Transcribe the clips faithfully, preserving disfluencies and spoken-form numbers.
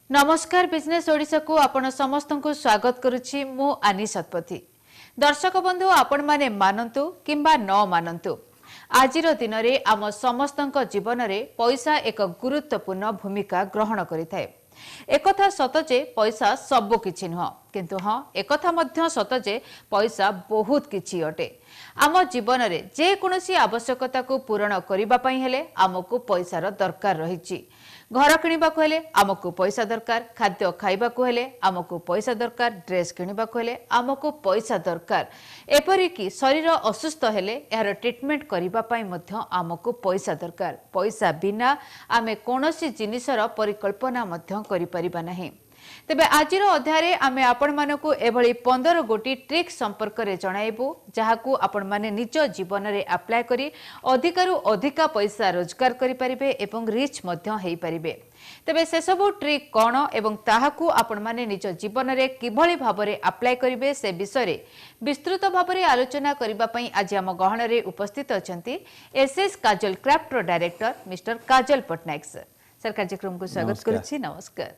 ନମସ୍କାର ବିଜନେସ୍ ଓଡ଼ିଶାକୁ ଆପଣ ସମସ୍ତଙ୍କୁ ସ୍ୱାଗତ କରୁଛି ମୁଁ ଆନି ଶତପଥୀ ଦର୍ଶକ ବନ୍ଧୁ ଆପଣମାନେ ମାନନ୍ତୁ କିମ୍ବା ନ ମାନନ୍ତୁ ଆଜିର ଦିନରେ ଆମ ସମସ୍ତଙ୍କ ଜୀବନରେ ପଇସା ଏକ ଗୁରୁତ୍ୱପୂର୍ଣ୍ଣ ଭୂମିକା ଗ୍ରହଣ କରିଥାଏ ଏକଥା ସତ ଯେ ପଇସା ସବୁ କିଛି ନୁହଁ କିନ୍ତୁ ହଁ ଏକଥା ମଧ୍ୟ ସତ ଯେ ପଇସା ବହୁତ କିଛି ଅଟେ ଆମ ଜୀବନରେ ଯେକୌଣସି ଆବଶ୍ୟକତାକୁ ପୂରଣ କରିବା ପାଇଁ ହେଲେ ଆମକୁ ପଇସାର ଦରକାର ରହିଛି ଘର କିଣିବାକୁ ହେଲେ ଆମକୁ ପଇସା ଦରକାର ଖାଦ୍ୟ ଖାଇବାକୁ ହେଲେ ଆମକୁ ପଇସା ଦରକାର ଡ୍ରେସ୍ କିଣିବାକୁ ହେଲେ ଆମକୁ ପଇସା ଦରକାର ଏପରିକି ଶରୀର ଅସୁସ୍ଥ ହେଲେ ଏହାର ଟ୍ରିଟମେଣ୍ଟ କରିବା ପାଇଁ ମଧ୍ୟ ଆମକୁ ପଇସା ଦରକାର ପଇସା ବିନା ଆମେ କୌଣସି ଜିନିଷର ପରିକଳ୍ପନା ମଧ୍ୟ କରିପାରିବା ନାହିଁ ତେବେ ଆଜିର ଅଧ୍ୟାୟରେ ଆମେ ଆପଣମାନଙ୍କୁ ଏଭଳି ପନ୍ଦର ଗୋଟି ଟ୍ରିକ୍ ସମ୍ପର୍କରେ ଜଣାଇବୁ ଯାହାକୁ ଆପଣମାନେ ନିଜ ଜୀବନରେ ଆପ୍ଲାଏ କରି ଅଧିକାରୁ ଅଧିକା ପଇସା ରୋଜଗାର କରିପାରିବେ ଏବଂ ରିଚ୍ ମଧ୍ୟ ହେଇପାରିବେ ତେବେ ସେସବୁ ଟ୍ରିକ୍ କ'ଣ ଏବଂ ତାହାକୁ ଆପଣମାନେ ନିଜ ଜୀବନରେ କିଭଳି ଭାବରେ ଆପ୍ଲାଏ କରିବେ ସେ ବିଷୟରେ ବିସ୍ତୃତ ଭାବରେ ଆଲୋଚନା କରିବା ପାଇଁ ଆଜି ଆମ ଗହଣରେ ଉପସ୍ଥିତ ଅଛନ୍ତି ଏସ୍ଏସ୍ କାଜଲ କ୍ରାଫ୍ଟର ଡାଇରେକ୍ଟର ମିଷ୍ଟର କାଜଲ ପଟ୍ଟନାୟକ ସାର୍ ସାର୍ କାର୍ଯ୍ୟକ୍ରମକୁ ସ୍ୱାଗତ କରୁଛି ନମସ୍କାର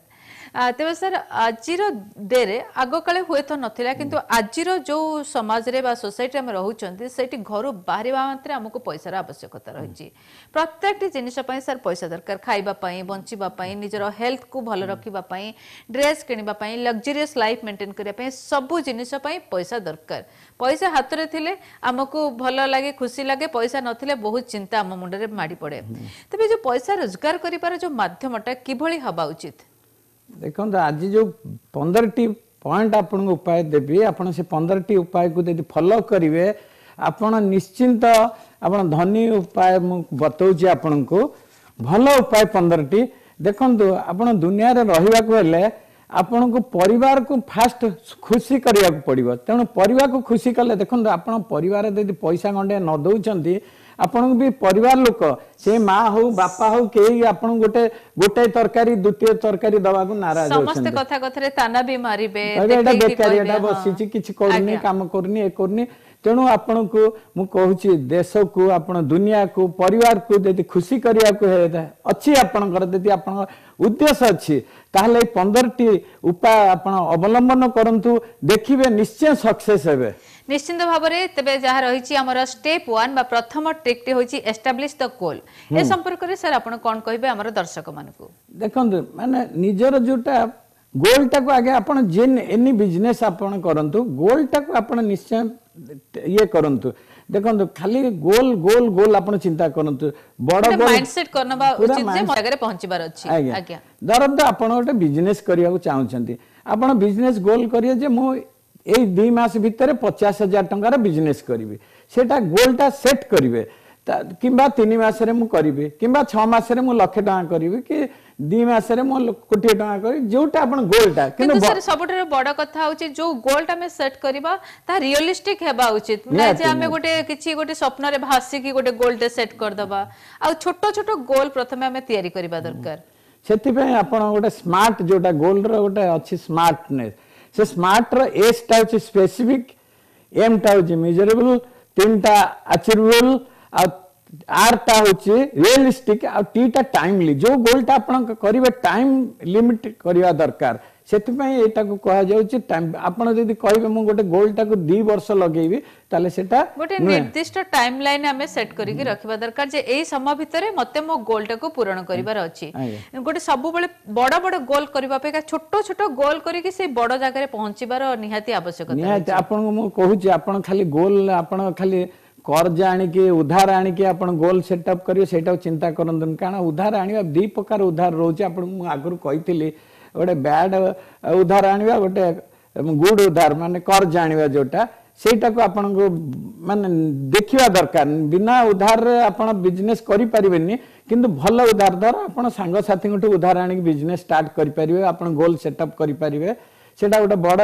ତେବେ ସାର୍ ଆଜିର ଡେରେ ଆଗକାଳେ ହୁଏତ ନଥିଲା କିନ୍ତୁ ଆଜିର ଯେଉଁ ସମାଜରେ ବା ସୋସାଇଟିରେ ଆମେ ରହୁଛନ୍ତି ସେଇଠି ଘରୁ ବାହାରିବା ମାତ୍ରେ ଆମକୁ ପଇସାର ଆବଶ୍ୟକତା ରହିଛି ପ୍ରତ୍ୟେକଟି ଜିନିଷ ପାଇଁ ସାର୍ ପଇସା ଦରକାର ଖାଇବା ପାଇଁ ବଞ୍ଚିବା ପାଇଁ ନିଜର ହେଲ୍ଥକୁ ଭଲ ରଖିବା ପାଇଁ ଡ୍ରେସ୍ କିଣିବା ପାଇଁ ଲକ୍ଜରିୟସ୍ ଲାଇଫ୍ ମେଣ୍ଟେନ୍ କରିବା ପାଇଁ ସବୁ ଜିନିଷ ପାଇଁ ପଇସା ଦରକାର ପଇସା ହାତରେ ଥିଲେ ଆମକୁ ଭଲ ଲାଗେ ଖୁସି ଲାଗେ ପଇସା ନଥିଲେ ବହୁତ ଚିନ୍ତା ଆମ ମୁଣ୍ଡରେ ମାଡ଼ି ପଡ଼େ ତେବେ ଯେଉଁ ପଇସା ରୋଜଗାର କରିବାର ଯେଉଁ ମାଧ୍ୟମଟା କିଭଳି ହେବା ଉଚିତ ଦେଖନ୍ତୁ ଆଜି ଯେଉଁ ପନ୍ଦରଟି ପଏଣ୍ଟ ଆପଣଙ୍କୁ ଉପାୟ ଦେବି ଆପଣ ସେ ପନ୍ଦରଟି ଉପାୟକୁ ଯଦି ଫଲୋ କରିବେ ଆପଣ ନିଶ୍ଚିନ୍ତ ଆପଣ ଧନୀ ଉପାୟ ମୁଁ ବତଉଛି ଆପଣଙ୍କୁ ଭଲ ଉପାୟ ପନ୍ଦରଟି ଦେଖନ୍ତୁ ଆପଣ ଦୁନିଆରେ ରହିବାକୁ ହେଲେ ଆପଣଙ୍କୁ ପରିବାରକୁ ଫାଷ୍ଟ ଖୁସି କରିବାକୁ ପଡ଼ିବ ତେଣୁ ପରିବାରକୁ ଖୁସି କଲେ ଦେଖନ୍ତୁ ଆପଣ ପରିବାର ଯଦି ପଇସା ଗଣ୍ଡେ ନ ଦେଉଛନ୍ତି ଆପଣଙ୍କୁ ବି ପରିବାର ଲୋକ ସେ ମା ହଉ ବାପା ହଉ କେହି ଆପଣଙ୍କୁ ଗୋଟେ ଗୋଟାଏ ତରକାରୀ ଦ୍ୱିତୀୟ ତରକାରୀ ଦବାକୁ ନାରାଜ ସମସ୍ତେ କଥା କଥାରେ ତାନା ବି ମାରିବେ ଏଇଟା ବେକାରୀ ଏଟା ବସିଛି କିଛି କରୁନି କାମ କରୁନି ଏ କରୁନି ତେଣୁ ଆପଣଙ୍କୁ ମୁଁ କହୁଛି ଦେଶକୁ ଆପଣ ଦୁନିଆକୁ ପରିବାରକୁ ଯଦି ଖୁସି କରିବାକୁ ଅଛି ଆପଣଙ୍କର ଯଦି ଆପଣଙ୍କ ଉଦ୍ଦେଶ୍ୟ ଅଛି ତାହେଲେ ଏଇ ପନ୍ଦରଟି ଉପାୟ ଆପଣ ଅବଲମ୍ବନ କରନ୍ତୁ ଦେଖିବେ ନିଶ୍ଚୟ ସକ୍ସେସ୍ ହେବେ ନିଶ୍ଚିତ ଭାବରେ ତେବେ ଯାହା ରହିଛି ଆମର ଷ୍ଟେପ୍ ୱାନ୍ ବା ପ୍ରଥମ ଟ୍ରିକ୍ଟି ହେଉଛି ଏଷ୍ଟାବ୍ଲିଶ ଦ ଗୋଲ୍ ଏ ସମ୍ପର୍କରେ ସାର୍ ଆପଣ କ'ଣ କହିବେ ଆମର ଦର୍ଶକମାନଙ୍କୁ ଦେଖନ୍ତୁ ମାନେ ନିଜର ଯୋଉଟା ଗୋଲ୍ଟାକୁ ଆଗେ ଆପଣ ଯେନ୍ ଏନି ବିଜନେସ୍ ଆପଣ କରନ୍ତୁ ଗୋଲ୍ଟାକୁ ଆପଣ ନିଶ୍ଚୟ ଇଏ କରନ୍ତୁ ଦେଖନ୍ତୁ ଖାଲି ଗୋଲ ଗୋଲ ଗୋଲ ଆପଣ ଚିନ୍ତା କରନ୍ତୁ ବଡ ମାଇଣ୍ଡସେଟ୍ କରିନେବା ଉଚିତ ଯେ ଜାଗାରେ ପହଞ୍ଚିବାର ଅଛି ଆଜ୍ଞା ଧରନ୍ତୁ ଆପଣ ଗୋଟେ ବିଜନେସ୍ କରିବାକୁ ଚାହୁଁଛନ୍ତି ଆପଣ ବିଜନେସ୍ ଗୋଲ କରିବେ ଯେ ମୁଁ ଏଇ ଦୁଇ ମାସ ଭିତରେ ପଚାଶ ହଜାର ଟଙ୍କାର ବିଜନେସ୍ କରିବି ସେଇଟା ଗୋଲଟା ସେଟ୍ କରିବେ କିମ୍ବା ତିନି ମାସରେ ମୁଁ କରିବି କିମ୍ବା ଛଅ ମାସରେ ମୁଁ ଲକ୍ଷେ ଟଙ୍କା କରିବି କି ଦୁଇ ମାସରେ ମୁଁ କୋଟିଏ ଟଙ୍କା କରିବି ଯୋଉଟା ଆପଣ ଗୋଲଟା କିନ୍ତୁ ସାର୍ ସବୁଠାରୁ ବଡ କଥା ହଉଛି ଯୋଉ ଗୋଲଟା ଆମେ ସେଟ୍ କରିବା ତାହା ରିଅଲିଷ୍ଟିକ ହେବା ଉଚିତ ନା ଯେ ଆମେ ଗୋଟେ କିଛି ଗୋଟେ ସ୍ୱପ୍ନରେ ଭାସିକି ଗୋଟେ ଗୋଲଟେ ସେଟ୍ କରିଦବା ଆଉ ଛୋଟ ଛୋଟ ଗୋଲ ପ୍ରଥମେ ଆମେ ତିଆରି କରିବା ଦରକାର ସେଥିପାଇଁ ଆପଣ ଗୋଟେ ସ୍ମାର୍ଟ ଯୋଉଟା ଗୋଲର ଗୋଟେ ଅଛି ସ୍ମାର୍ଟନେସ୍ ସେ ସ୍ମାର୍ଟର ଏସ୍ଟା ହେଉଛି ସ୍ପେସିଫିକ ଏମ୍ଟା ହେଉଛି ମେଜରେବଲ ତିନିଟା ଆଚିଭେବଲ ଆଉ ଆର୍ଟା ହେଉଛି ରିଏଲିଷ୍ଟିକ ଆଉ ଟିଟା ଟାଇମଲି ଯୋଉ ଗୋଲଟା ଆପଣ କରିବେ ଟାଇମ ଲିମିଟ କରିବା ଦରକାର ସେଥିପାଇଁ ଏଇଟାକୁ କୁହାଯାଉଛି ଟାଇମ ଆପଣ ଯଦି କହିବେ ମୁଁ ଗୋଟେ ଗୋଲଟାକୁ ଦି ବର୍ଷ ଲଗେଇବି ତାହେଲେ ସେଟା ଗୋଟେ ନିର୍ଦ୍ଦିଷ୍ଟ ଟାଇମ ଲାଇନ ଆମେ ସେଟ୍ କରିକି ରଖିବା ଦରକାର ଯେ ଏଇ ସମୟ ଭିତରେ ମତେ ମୋ ଗୋଲଟାକୁ ପୂରଣ କରିବାର ଅଛି ଗୋଟେ ସବୁବେଳେ ବଡ ବଡ ଗୋଲ କରିବା ଅପେକ୍ଷା ଛୋଟ ଛୋଟ ଗୋଲ କରିକି ସେଇ ବଡ ଜାଗାରେ ପହଞ୍ଚିବାର ନିହାତି ଆବଶ୍ୟକତା ନିହାତି ଆପଣଙ୍କୁ ମୁଁ କହୁଛି ଆପଣ ଖାଲି ଗୋଲ ଆପଣ ଖାଲି କର୍ଜ ଆଣିକି ଉଧାର ଆଣିକି ଆପଣ ଗୋଲ ସେଟଅପ୍ କରିବେ ସେଇଟାକୁ ଚିନ୍ତା କରନ୍ତୁନି କାରଣ ଉଧାର ଆଣିବା ଦୁଇ ପ୍ରକାର ଉଧାର ରହୁଛି ଆପଣଙ୍କୁ ମୁଁ ଆଗରୁ କହିଥିଲି ଗୋଟେ ବ୍ୟାଡ୍ ଉଧାର ଆଣିବା ଗୋଟେ ଗୁଡ୍ ଉଧାର ମାନେ କର୍ଜ ଆଣିବା ଯୋଉଟା ସେଇଟାକୁ ଆପଣଙ୍କୁ ମାନେ ଦେଖିବା ଦରକାର ବିନା ଉଧାରରେ ଆପଣ ବିଜନେସ୍ କରିପାରିବେନି କିନ୍ତୁ ଭଲ ଉଧାର ଧର ଆପଣ ସାଙ୍ଗସାଥୀଙ୍କଠୁ ଉଧାର ଆଣିକି ବିଜନେସ୍ ଷ୍ଟାର୍ଟ କରିପାରିବେ ଆପଣ ଗୋଲ ସେଟଅପ୍ କରିପାରିବେ ସେଇଟା ଗୋଟେ ବଡ଼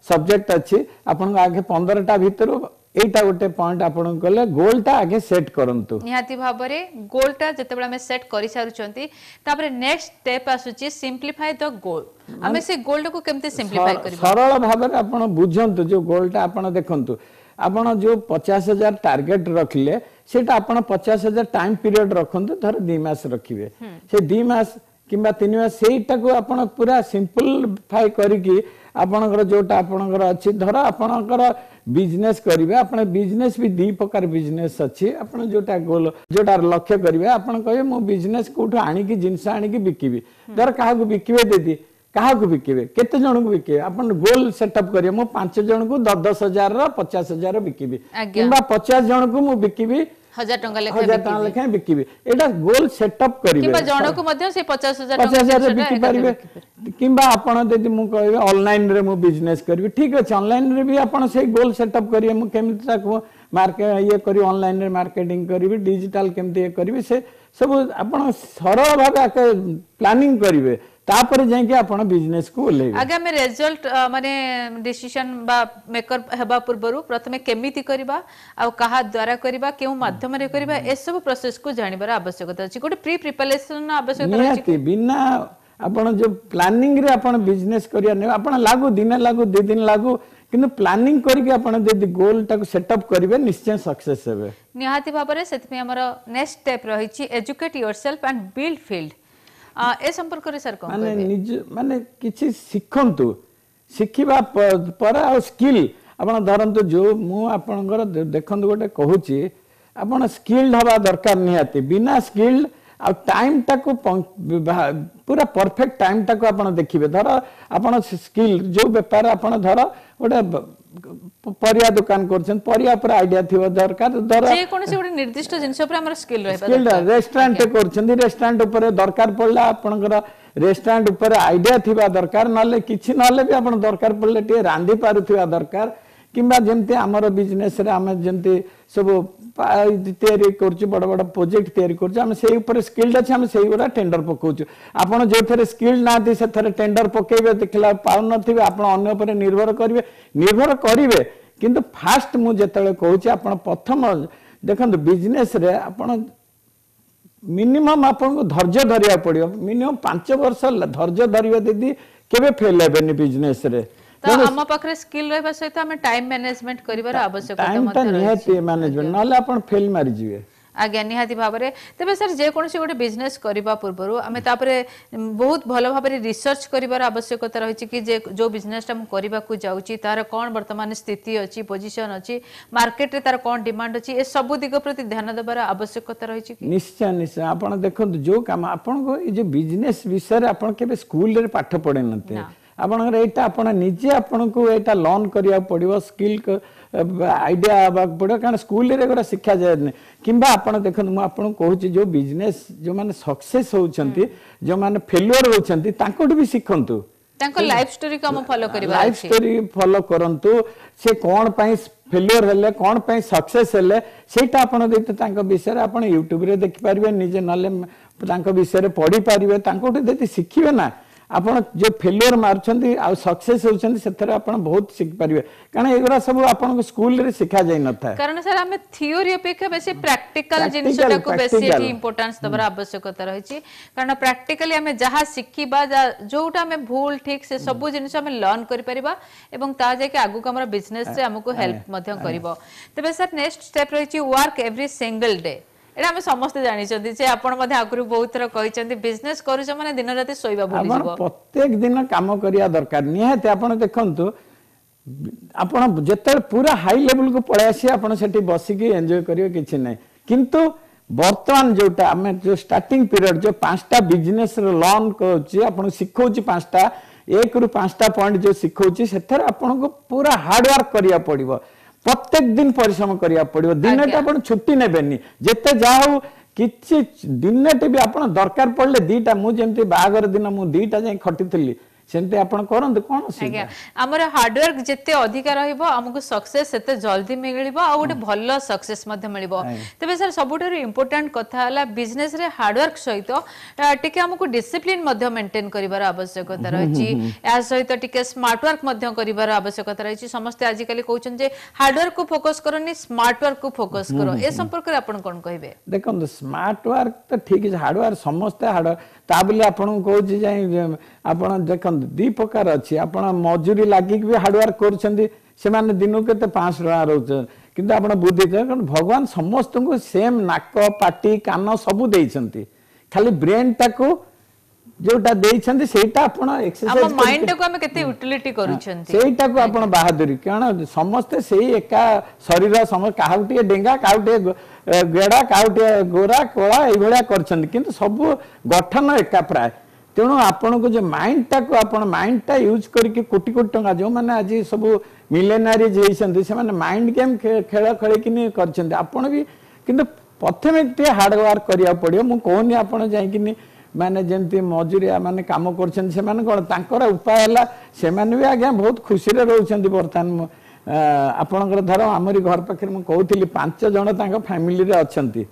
ସବଜେକ୍ଟ ଅଛି ଆପଣଙ୍କୁ ଆଗେ ପନ୍ଦରଟା ଭିତରୁ ଏଇଟା ଗୋଟେ ପଏଣ୍ଟ ଆପଣଙ୍କୁ କଲେ ଗୋଲଟା ଆଗେ ସେଟ୍ କରନ୍ତୁ ନିହାତି ଭାବରେ ଗୋଲଟା ଯେତେବେଳେ ଆମେ ସେଟ୍ କରିସାରୁଛନ୍ତି ତାପରେ ନେକ୍ସଟ ଷ୍ଟେପ୍ ଆସୁଛି ସିମ୍ପ୍ଲିଫାଏ ଦ ଗୋଲ ଆମେ ସେ ଗୋଲଟାକୁ କେମିତି ସିମ୍ପ୍ଲିଫାଏ କରିବା ସରଳ ଭାବରେ ଆପଣ ବୁଝନ୍ତୁ ଯୋଉ ଗୋଲଟା ଆପଣ ଦେଖନ୍ତୁ ଆପଣ ଯୋଉ ପଚାଶ ହଜାର ଟାର୍ଗେଟ ରଖିଲେ ସେଇଟା ଆପଣ ପଚାଶ ହଜାର ଟାଇମ ପିରିୟଡ଼ ରଖନ୍ତୁ ଧର ଦୁଇ ମାସ ରଖିବେ ସେ ଦୁଇ ମାସ କିମ୍ବା ତିନି ମାସ ସେଇଟାକୁ ଆପଣ ପୁରା ସିମ୍ପଲିଫାଇ କରିକି ଆପଣଙ୍କର ଯୋଉଟା ଆପଣଙ୍କର ଅଛି ଧର ଆପଣଙ୍କର ବିଜନେସ୍ କରିବେ ଆପଣ ବିଜନେସ୍ ବି ଦୁଇ ପ୍ରକାର ବିଜନେସ୍ ଅଛି ଆପଣ ଯୋଉଟା ଗୋଲ ଯୋଉଟା ଲକ୍ଷ୍ୟ କରିବେ ଆପଣ କହିବେ ମୁଁ ବିଜନେସ୍ କୋଉଠୁ ଆଣିକି ଜିନିଷ ଆଣିକି ବିକିବି ଧର କାହାକୁ ବିକିବେ ଦିଦି କାହାକୁ ବିକିବେ କେତେ ଜଣଙ୍କୁ ବିକିବେ ଆପଣ ଗୋଲ ସେଟଅପ୍ କରିବେ ମୁଁ ପାଞ୍ଚ ଜଣଙ୍କୁ ଦଶ ଦଶ ହଜାରର ପଚାଶ ହଜାର ବିକିବି ଆଜ୍ଞା। କିମ୍ବା ପଚାଶ ଜଣଙ୍କୁ ମୁଁ ବିକିବି ହଜାର ଟଙ୍କା ଲେଖାଏଁ ହଜାର ଟଙ୍କା ବିକିବି ଲେଖାଏଁ ବିକିବି ଏଇଟା ଗୋଲ ସେଟଅପ୍ କରିବେ କିମ୍ବା ଜଣକୁ ମଧ୍ୟ ସେ ପଚାଶ ହଜାର ପଚାଶ ଟଙ୍କା ହଜାର ଜିନିଷଟା ବିକି ଏକାଥରେ ପାରିବେ ବିକିପାରିବେ। କିମ୍ବା ଆପଣ ଯଦି ମୁଁ କହିବି ଅନଲାଇନରେ ମୁଁ ବିଜନେସ୍ କରିବି ଠିକ ଅଛି ଅନଲାଇନରେ ବି ଆପଣ ସେଇ ଗୋଲ ସେଟଅପ୍ କରିବେ ମୁଁ କେମିତି ତାକୁ ମାର୍କେ ଇଏ କରିବି ଅନଲାଇନରେ ମାର୍କେଟିଂ କରିବି ଡିଜିଟାଲ କେମିତି ଇଏ କରିବି ସେ ସବୁ ଆପଣ ସରଳ ଭାବେ ପ୍ଲାନିଂ କରିବେ ତାପରେ ଯାଇକି ଆପଣ ବିଜନେସକୁ ଓହ୍ଲେଇବେ ଆଜ୍ଞା ଆମେ ରେଜଲ୍ଟ ମାନେ ଡିସିସନ ବା ମେକର ହେବା ପୂର୍ବରୁ ପ୍ରଥମେ କେମିତି କରିବା ଆଉ କାହା ଦ୍ୱାରା କରିବା କେଉଁ ମାଧ୍ୟମରେ କରିବା ଏସବୁ ପ୍ରୋସେସକୁ ଜାଣିବାର ଆବଶ୍ୟକତା ଅଛି ଗୋଟେ ପ୍ରି ପ୍ରିପାରେସନ ଆବଶ୍ୟକତା ରହିଛି ନିହାତି ବିନା ଆପଣ ଯୋଉ ପ୍ଲାନିଂରେ ଆପଣ ବିଜନେସ୍ କରିବା ନେବେ ଆପଣ ଲାଗୁ ଦିନେ ଲାଗୁ ଦି ଦିନ ଲାଗୁ କିନ୍ତୁ ପ୍ଲାନିଂ କରିକି ଆପଣ ଯଦି ଗୋଲଟାକୁ ସେଟଅପ୍ କରିବେ ନିଶ୍ଚୟ ସକ୍ସେସ୍ ହେବେ ନିହାତି ଭାବରେ ସେଥିପାଇଁ ଆମର ନେକ୍ସଟ ଷ୍ଟେପ୍ ରହିଛି educate yourself and build field ଏ ସମ୍ପର୍କରେ ସାର୍ କଣ ମାନେ କହିବେ ନିଜ ମାନେ କିଛି ଶିଖନ୍ତୁ ଶିଖିବା ପ- ପରେ ଆଉ ସ୍କିଲ୍ ଆପଣ ଧରନ୍ତୁ ଯୋଉ ମୁଁ ଆପଣଙ୍କର ଦେ- ଦେଖନ୍ତୁ ଗୋଟେ କହୁଛି ଆପଣ ସ୍କିଲ୍ଡ ହବା ଦରକାର ନିହାତି ବିନା ସ୍କିଲ୍ଡ ଆଉ ଟାଇମଟାକୁ ପୁରା ପରଫେକ୍ଟ ଟାଇମଟାକୁ ଆପଣ ଦେଖିବେ ଧର ଆପଣ ସ୍କିଲ୍ ଯୋଉ ବେପାର ଆପଣ ଧର ଗୋଟେ ବ- ପରିବା ଦୋକାନ କରୁଛନ୍ତି ପରିବା ଉପରେ ଆଇଡିଆ ଥିବ ଦରକାର ଧର ଯେକୌଣସି ଗୋଟେ ନିର୍ଦ୍ଦିଷ୍ଟ ଜିନିଷ ଉପରେ ଆମର ସ୍କିଲ୍ ରହିବା ସ୍କିଲ୍ ଦରକାର ରେଷ୍ଟୁରାଣ୍ଟ କରୁଛନ୍ତି ରେଷ୍ଟୁରାଣ୍ଟ ଉପରେ ଦରକାର ପଡ଼ିଲା ଆପଣଙ୍କର ରେଷ୍ଟୁରାଣ୍ଟ ଉପରେ ଆଇଡିଆ ଥିବା ଦରକାର ନହେଲେ କିଛି ନହେଲେ ବି ଆପଣ ଦରକାର ପଡ଼ିଲେ ଟିକେ ରାନ୍ଧି ପାରୁଥିବା ଦରକାର କିମ୍ବା ଯେମିତି ଆମର ବିଜନେସରେ ଆମେ ଯେମିତି ସବୁ ପା- ତିଆରି କରୁଛୁ ବଡ଼ ବଡ଼ ପ୍ରୋଜେକ୍ଟ ତିଆରି କରୁଛୁ ଆମେ ସେଇ ଉପରେ ସ୍କିଲ୍ଡ ଅଛି ଆମେ ସେଇଗୁଡ଼ା ଟେଣ୍ଡର ପକଉଛୁ ଆପଣ ଯୋଉଥିରେ ସ୍କିଲ୍ଡ ନାହାନ୍ତି ସେଥିରେ ଟେଣ୍ଡର ପକେଇବେ ଦେଖିଲା ପାଉନଥିବେ ଆପଣ ଅନ୍ୟ ଉପରେ ନିର୍ଭର କରିବେ ନିର୍ଭର କରିବେ କିନ୍ତୁ ଫାଷ୍ଟ ମୁଁ ଯେତେବେଳେ କହୁଛି ଆପଣ ପ୍ରଥମ ଦେଖନ୍ତୁ ବିଜନେସରେ ଆପଣ ମିନିମମ୍ ଆପଣଙ୍କୁ ଧୈର୍ଯ୍ୟ ଧରିବାକୁ ପଡ଼ିବ ମିନିମମ୍ ପାଞ୍ଚ ବର୍ଷ ଧୈର୍ଯ୍ୟ ଧରିବେ ଦିଦି କେବେ ଫେଲ୍ ହେବେନି ବିଜନେସରେ ତ ଆମ ପାଖରେ ସ୍କିଲ୍ ରହିବା ସହିତ ଆମେ ଟାଇମ ମ୍ୟାନେଜମେଣ୍ଟ କରିବାର ଆବଶ୍ୟକତା ଟାଇମଟା ମଧ୍ୟ ନିହାତି ରହିଛି ମ୍ୟାନେଜମେଣ୍ଟ ନହେଲେ ଆପଣ ଫେଲ୍ ମାରିଯିବେ ଆଜ୍ଞା ନିହାତି ଭାବରେ ତେବେ ସାର୍ ଯେକୌଣସି ଗୋଟେ ବିଜନେସ୍ କରିବା ପୂର୍ବରୁ ଆମେ ତାପରେ ଉଁ, ବହୁତ ଭଲ ଭାବରେ ରିସର୍ଚ୍ଚ କରିବାର ଆବଶ୍ୟକତା ରହିଛି କି ଯେ ଯୋଉ ବିଜନେସଟା ମୁଁ କରିବାକୁ ଯାଉଛି ତାର କ'ଣ ବର୍ତ୍ତମାନ ସ୍ଥିତି ଅଛି ପୋଜିସନ ଅଛି ମାର୍କେଟରେ ତାର କ'ଣ ଡିମାଣ୍ଡ ଅଛି ଏ ସବୁ ଦିଗ ପ୍ରତି ଧ୍ୟାନ ଦେବାର ଆବଶ୍ୟକତା ରହିଛି କି ନିଶ୍ଚୟ ନିଶ୍ଚୟ ଆପଣ ଦେଖନ୍ତୁ ଯୋଉ କାମ ଆପଣଙ୍କୁ ଏଇ ଯୋଉ ବିଜନେସ ବିଷୟରେ ଆପଣ କେବେ ସ୍କୁଲରେ ପାଠ ପଢି ନଥିବେ ଆପଣଙ୍କର ଏଇଟା ଆପଣ ନିଜେ ଆପଣଙ୍କୁ ଏଇଟା ଲର୍ନ କରିବାକୁ ପଡିବ ସ୍କିଲ୍ ଆଇଡିଆ ହେବାକୁ ପଡିବ କାରଣ ସ୍କୁଲରେ ଏଗୁଡ଼ା ଶିଖାଯାଏନି କିମ୍ବା ଆପଣ ଦେଖନ୍ତୁ ମୁଁ ଆପଣଙ୍କୁ କହୁଛି ଯୋଉ ବିଜନେସ ଯୋଉମାନେ ସକ୍ସେସ୍ ହଉଛନ୍ତି ଯୋଉମାନେ ଫେଲୁଅର ହଉଛନ୍ତି ତାଙ୍କଠୁ ବି ଶିଖନ୍ତୁ ତାଙ୍କ ଲାଇଫ ଷ୍ଟୋରିକୁ ଆମ ଫଲୋ କରିବାର ଲାଇଫ ଅଛି ଷ୍ଟୋରି ଫଲୋ କରନ୍ତୁ ସେ କ'ଣ ପାଇଁ ଫେଲୁଅର ହେଲେ କ'ଣ ପାଇଁ ସକ୍ସେସ୍ ହେଲେ ସେଇଟା ଆପଣ ଯଦି ତାଙ୍କ ବିଷୟରେ ଆପଣ ୟୁଟ୍ୟୁବରେ ଦେଖିପାରିବେ ନିଜେ ନହେଲେ ତାଙ୍କ ବିଷୟରେ ପଢିପାରିବେ ତାଙ୍କଠୁ ଯଦି ଶିଖିବେ ନା ଆପଣ ଯୋଉ ଫେଲୁଅର ମାରୁଛନ୍ତି ଆଉ ସକ୍ସେସ୍ ହଉଛନ୍ତି ସେଥିରେ ଆପଣ ବହୁତ ଶିଖିପାରିବେ କାରଣ ଏଗୁଡ଼ା ସବୁ ଆପଣଙ୍କୁ ସ୍କୁଲରେ ଶିଖା ଯାଇନଥାଏ କାରଣ ସାର୍ ଆମେ ଥିଓରି ଅପେକ୍ଷା ବେଶୀ ପ୍ରାକ୍ଟିକାଲ Practical, ଜିନିଷଟାକୁ ବେଶୀ practical. ଏଠି ଇମ୍ପୋର୍ଟାନ୍ସ ଦେବାର ଆବଶ୍ୟକତା ରହିଛି କାରଣ ପ୍ରାକ୍ଟିକାଲି ଆମେ ଯାହା ଶିଖିବା ଯା- ଯୋଉଟା ଆମେ ଭୁଲ ଠିକ ସେ ସବୁ ଜିନିଷ ଆମେ ଲର୍ନ କରିପାରିବା ଏବଂ ତା ଯାଇକି ଆଗକୁ ଆମର ବିଜନେସରେ ଆମକୁ ହେଲ୍ପ ମଧ୍ୟ କରିବ ତେବେ ସାର୍ ନେକ୍ସଟ ଷ୍ଟେପ୍ ରହିଛି ୱାର୍କ ଏଭ୍ରି ସିଙ୍ଗଲ ଡେ ଏଇଟା ଆମେ ସମସ୍ତେ ଜାଣିଛନ୍ତି ଯେ ଆପଣ ମଧ୍ୟ ଆଗରୁ ବହୁତ ଥର କହିଛନ୍ତି ବିଜନେସ କରୁଛ ମାନେ ଦିନ ରାତି ଶୋଇବା ଆପଣ ଭୁଲିଯିବ ପ୍ରତ୍ୟେକ ଦିନ କାମ କରିବା ଦରକାର ନିହାତି ଆପଣ ଦେଖନ୍ତୁ ଆପଣ ଯେତେବେଳେ ପୁରା ହାଇ ଲେଭେଲକୁ ପଳେଇ ଆସିବେ ଆପଣ ସେଠି ବସିକି ଏନ୍ଜୟ କରିବେ କିଛି ନାହିଁ କିନ୍ତୁ ବର୍ତ୍ତମାନ ଯୋଉଟା ଆମେ ଯୋଉ ଷ୍ଟାର୍ଟିଂ ପିରିୟଡ ଯୋଉ ପାଞ୍ଚଟା ବିଜନେସ ଲର୍ନ କରୁଛି ଆପଣଙ୍କୁ ଶିଖଉଛି ପାଞ୍ଚଟା ଏକରୁ ପାଞ୍ଚଟା ପଏଣ୍ଟ ଯୋଉ ଶିଖଉଛି ସେଥିରେ ଆପଣଙ୍କୁ ପୁରା ହାର୍ଡ ୱାର୍କ କରିବାକୁ ପଡିବ ପ୍ରତ୍ୟେକ ଦିନ ପରିଶ୍ରମ କରିବାକୁ ପଡିବ ଦିନଟା ଆପଣ ଛୁଟି ନେବେନି ଯେତେ ଯାହା ହଉ କିଛି ଦିନଟେ ବି ଆପଣ ଦରକାର ପଡିଲେ ଦିଟା ମୁଁ ଯେମିତି ବାହାଘର ଦିନ ମୁଁ ଦିଟା ଯାଇ ଖଟିଥିଲି ସେମିତି ଆପଣ କରନ୍ତୁ କଣ ଅସୁବିଧା ଆଜ୍ଞା ଆମର ହାର୍ଡୱାର୍କ ଯେତେ ଅଧିକା ରହିବ ଆମକୁ ସକ୍ସେସ ସେତେ ଜଲ୍ଦି ମିଳିବ ଆଉ ଗୋଟେ ଭଲ ସକ୍ସେସ ମଧ୍ୟ ମିଳିବ ତେବେ ସାର୍ ସବୁଠାରୁ ଇମ୍ପୋର୍ଟାଣ୍ଟ କଥା ହେଲା ବିଜନେସରେ ହାର୍ଡୱାର୍କ ସହିତ ଆ, ଟିକେ ଆମକୁ ଡିସିପ୍ଲିନ ମଧ୍ୟ ମେଣ୍ଟେନ କରିବାର ଆବଶ୍ୟକତା ରହିଛି ଏହା ସହିତ ଟିକେ ସ୍ମାର୍ଟ ୱାର୍କ ମଧ୍ୟ କରିବାର ଆବଶ୍ୟକତା ରହିଛି ସମସ୍ତେ ଆଜିକାଲି କହୁଛନ୍ତି ଯେ ହାର୍ଡୱାର୍କ କୁ ଫୋକସ କରନି ସ୍ମାର୍ଟ ୱାର୍କ କୁ ଫୋକସ କର ଏ ସମ୍ପର୍କରେ ଆପଣ କଣ କହିବେ ଦେଖନ୍ତୁ ସ୍ମାର୍ଟ ୱାର୍କ ତ ଠିକ ଅଛି ହାର୍ଡ ୱାର୍କ ସମସ୍ତେ ହାର୍ଡ ତା ବୋଲି ଆପଣଙ୍କୁ କହୁଛି ଯାଇ ଆପଣ ଦେଖନ୍ତୁ ଦି ପ୍ରକାର ଅଛି ଆପଣ ମଜୁରୀ ଲାଗିକି ବି ହାର୍ଡ ୱାର୍କ କରୁଛନ୍ତି ସେମାନେ ଦିନକୁ କେତେ ପାଞ୍ଚଶହ ଟଙ୍କା ରହୁଛନ୍ତି କିନ୍ତୁ ଆପଣ ବୁଦ୍ଧି କାରଣ ଭଗବାନ ସମସ୍ତଙ୍କୁ ସେମ୍ ନାକ ପାଟି କାନ ସବୁ ଦେଇଛନ୍ତି ଖାଲି ବ୍ରେନଟାକୁ ଯୋଉଟା ଦେଇଛନ୍ତି ସେଇଟା ଆପଣ ଆମ ଏକ୍ସରସାଇଜ ମାଇଣ୍ଡଟାକୁ ଆମେ କେତେ ୟୁଟିଲିଟି କରୁଛନ୍ତି ସେଇଟାକୁ ଆପଣ ବାହାଦୁରୀ କାରଣ ସମସ୍ତେ ସେଇ ଏକା ଶରୀର ସମ କାହାକୁ ଟିକେ ଡେଙ୍ଗା କାହାକୁ ଟିକେ ଗୋ- ଏ, ଗେଡା କାହାକୁ ଟିକେ ଗୋରା କଳା ଏଇଭଳିଆ କରିଛନ୍ତି କିନ୍ତୁ ସବୁ ଗଠନ ଏକା ପ୍ରାୟ ତେଣୁ ଆପଣଙ୍କୁ ଯେ ମାଇଣ୍ଡଟାକୁ ଆପଣ ମାଇଣ୍ଡଟା ୟୁଜ୍ କରିକି କୋଟି କୋଟି ଟଙ୍କା ଯେଉଁମାନେ ଆଜି ସବୁ ମିଲେନାରିଜ ହେଇଛନ୍ତି ସେମାନେ ମାଇଣ୍ଡ ଗେମ୍ ଖେଳ ଖେଳିକିନି କରିଛନ୍ତି ଆପଣ ବି କିନ୍ତୁ ପ୍ରଥମେ ଟିକେ ହାର୍ଡ ୱାର୍କ କରିବାକୁ ପଡ଼ିବ ମୁଁ କହୁନି ଆପଣ ଯାଇକିନି ମାନେ ଯେମିତି ମଜୁରିଆ ମାନେ କାମ କରୁଛନ୍ତି ସେମାନେ କ'ଣ ତାଙ୍କର ଉପାୟ ହେଲା ସେମାନେ ବି ଆଜ୍ଞା ବହୁତ ଖୁସିରେ ରହୁଛନ୍ତି ବର୍ତ୍ତମାନ ମୁଁ, ଆ, ଆପଣଙ୍କର ଧର ଆମରି ଘର ପାଖରେ ମୁଁ କହୁଥିଲି ପାଞ୍ଚ ଜଣ ତାଙ୍କ ଫ୍ୟାମିଲିରେ ଅଛନ୍ତି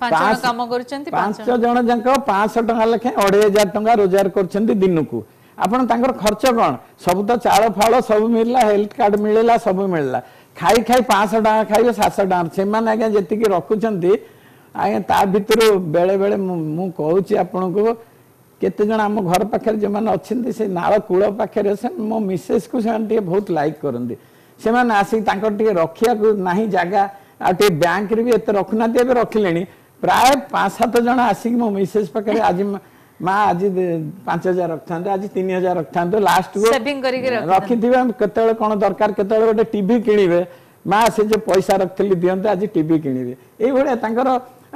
ପାଞ୍ଚ ଜଣ ପାଞ୍ଚ- କାମ କରୁଛନ୍ତି ପାଞ୍ଚ ପାଞ୍ଚ ଜଣ ଯାକ ପାଞ୍ଚଶହ ଟଙ୍କା ଲେଖାଏଁ ଅଢେଇ ହଜାର ଟଙ୍କା ରୋଜଗାର କରୁଛନ୍ତି ଦିନକୁ ଆପଣ ତାଙ୍କର ଖର୍ଚ୍ଚ କ'ଣ ସବୁ ତ ଚାଉଳ ଫାଉଳ ସବୁ ମିଳିଲା ହେଲ୍ଥ କାର୍ଡ ମିଳିଲା ସବୁ ମିଳିଲା ଖାଇ ଖାଇ ପାଞ୍ଚଶହ ଟଙ୍କା ଖାଇବେ ସାତଶହ ଟଙ୍କା ସେମାନେ ଆଜ୍ଞା ଯେତିକି ରଖୁଛନ୍ତି ଆଜ୍ଞା ତା ଭିତରୁ ବେଳେ ବେଳେ ମୁଁ ମୁଁ କହୁଛି ଆପଣଙ୍କୁ କେତେ ଜଣ ଆମ ଘର ପାଖରେ ଯେଉଁମାନେ ଅଛନ୍ତି ସେ ନାଳ କୂଳ ପାଖରେ ସେ ମୋ ମିସେସ୍କୁ ସେମାନେ ଟିକେ ବହୁତ ଲାଇକ୍ କରନ୍ତି ସେମାନେ ଆସିକି ତାଙ୍କର ଟିକେ ରଖିବାକୁ ନାହିଁ ଜାଗା ଆଉ ଟିକେ ବ୍ୟାଙ୍କରେ ବି ଏତେ ରଖୁନାହାନ୍ତି ଏବେ ରଖିଲେଣି ପ୍ରାୟ ପାଞ୍ଚ ସାତ ଜଣ ଆସିକି ମୋ ମିସେସ୍ ପାଖରେ ଆଜି ମା ମା ଆଜି ଦେ- ପାଞ୍ଚ ହଜାର ରଖିଥାନ୍ତୁ ଆଜି ତିନି ହଜାର ରଖିଥାନ୍ତୁ ଲାଷ୍ଟକୁ Saving କରିକି ରଖିଥାନ୍ତୁ। ରଖିଥିବେ କେତେବେଳେ କ'ଣ ଦରକାର କେତେବେଳେ ଗୋଟେ ଟିଭି କିଣିବେ ମା ସେ ଯୋଉ ପଇସା ରଖିଥିଲି ଦିଅନ୍ତୁ ଆଜି ଟିଭି କିଣିବେ ଏଇଭଳିଆ ତାଙ୍କର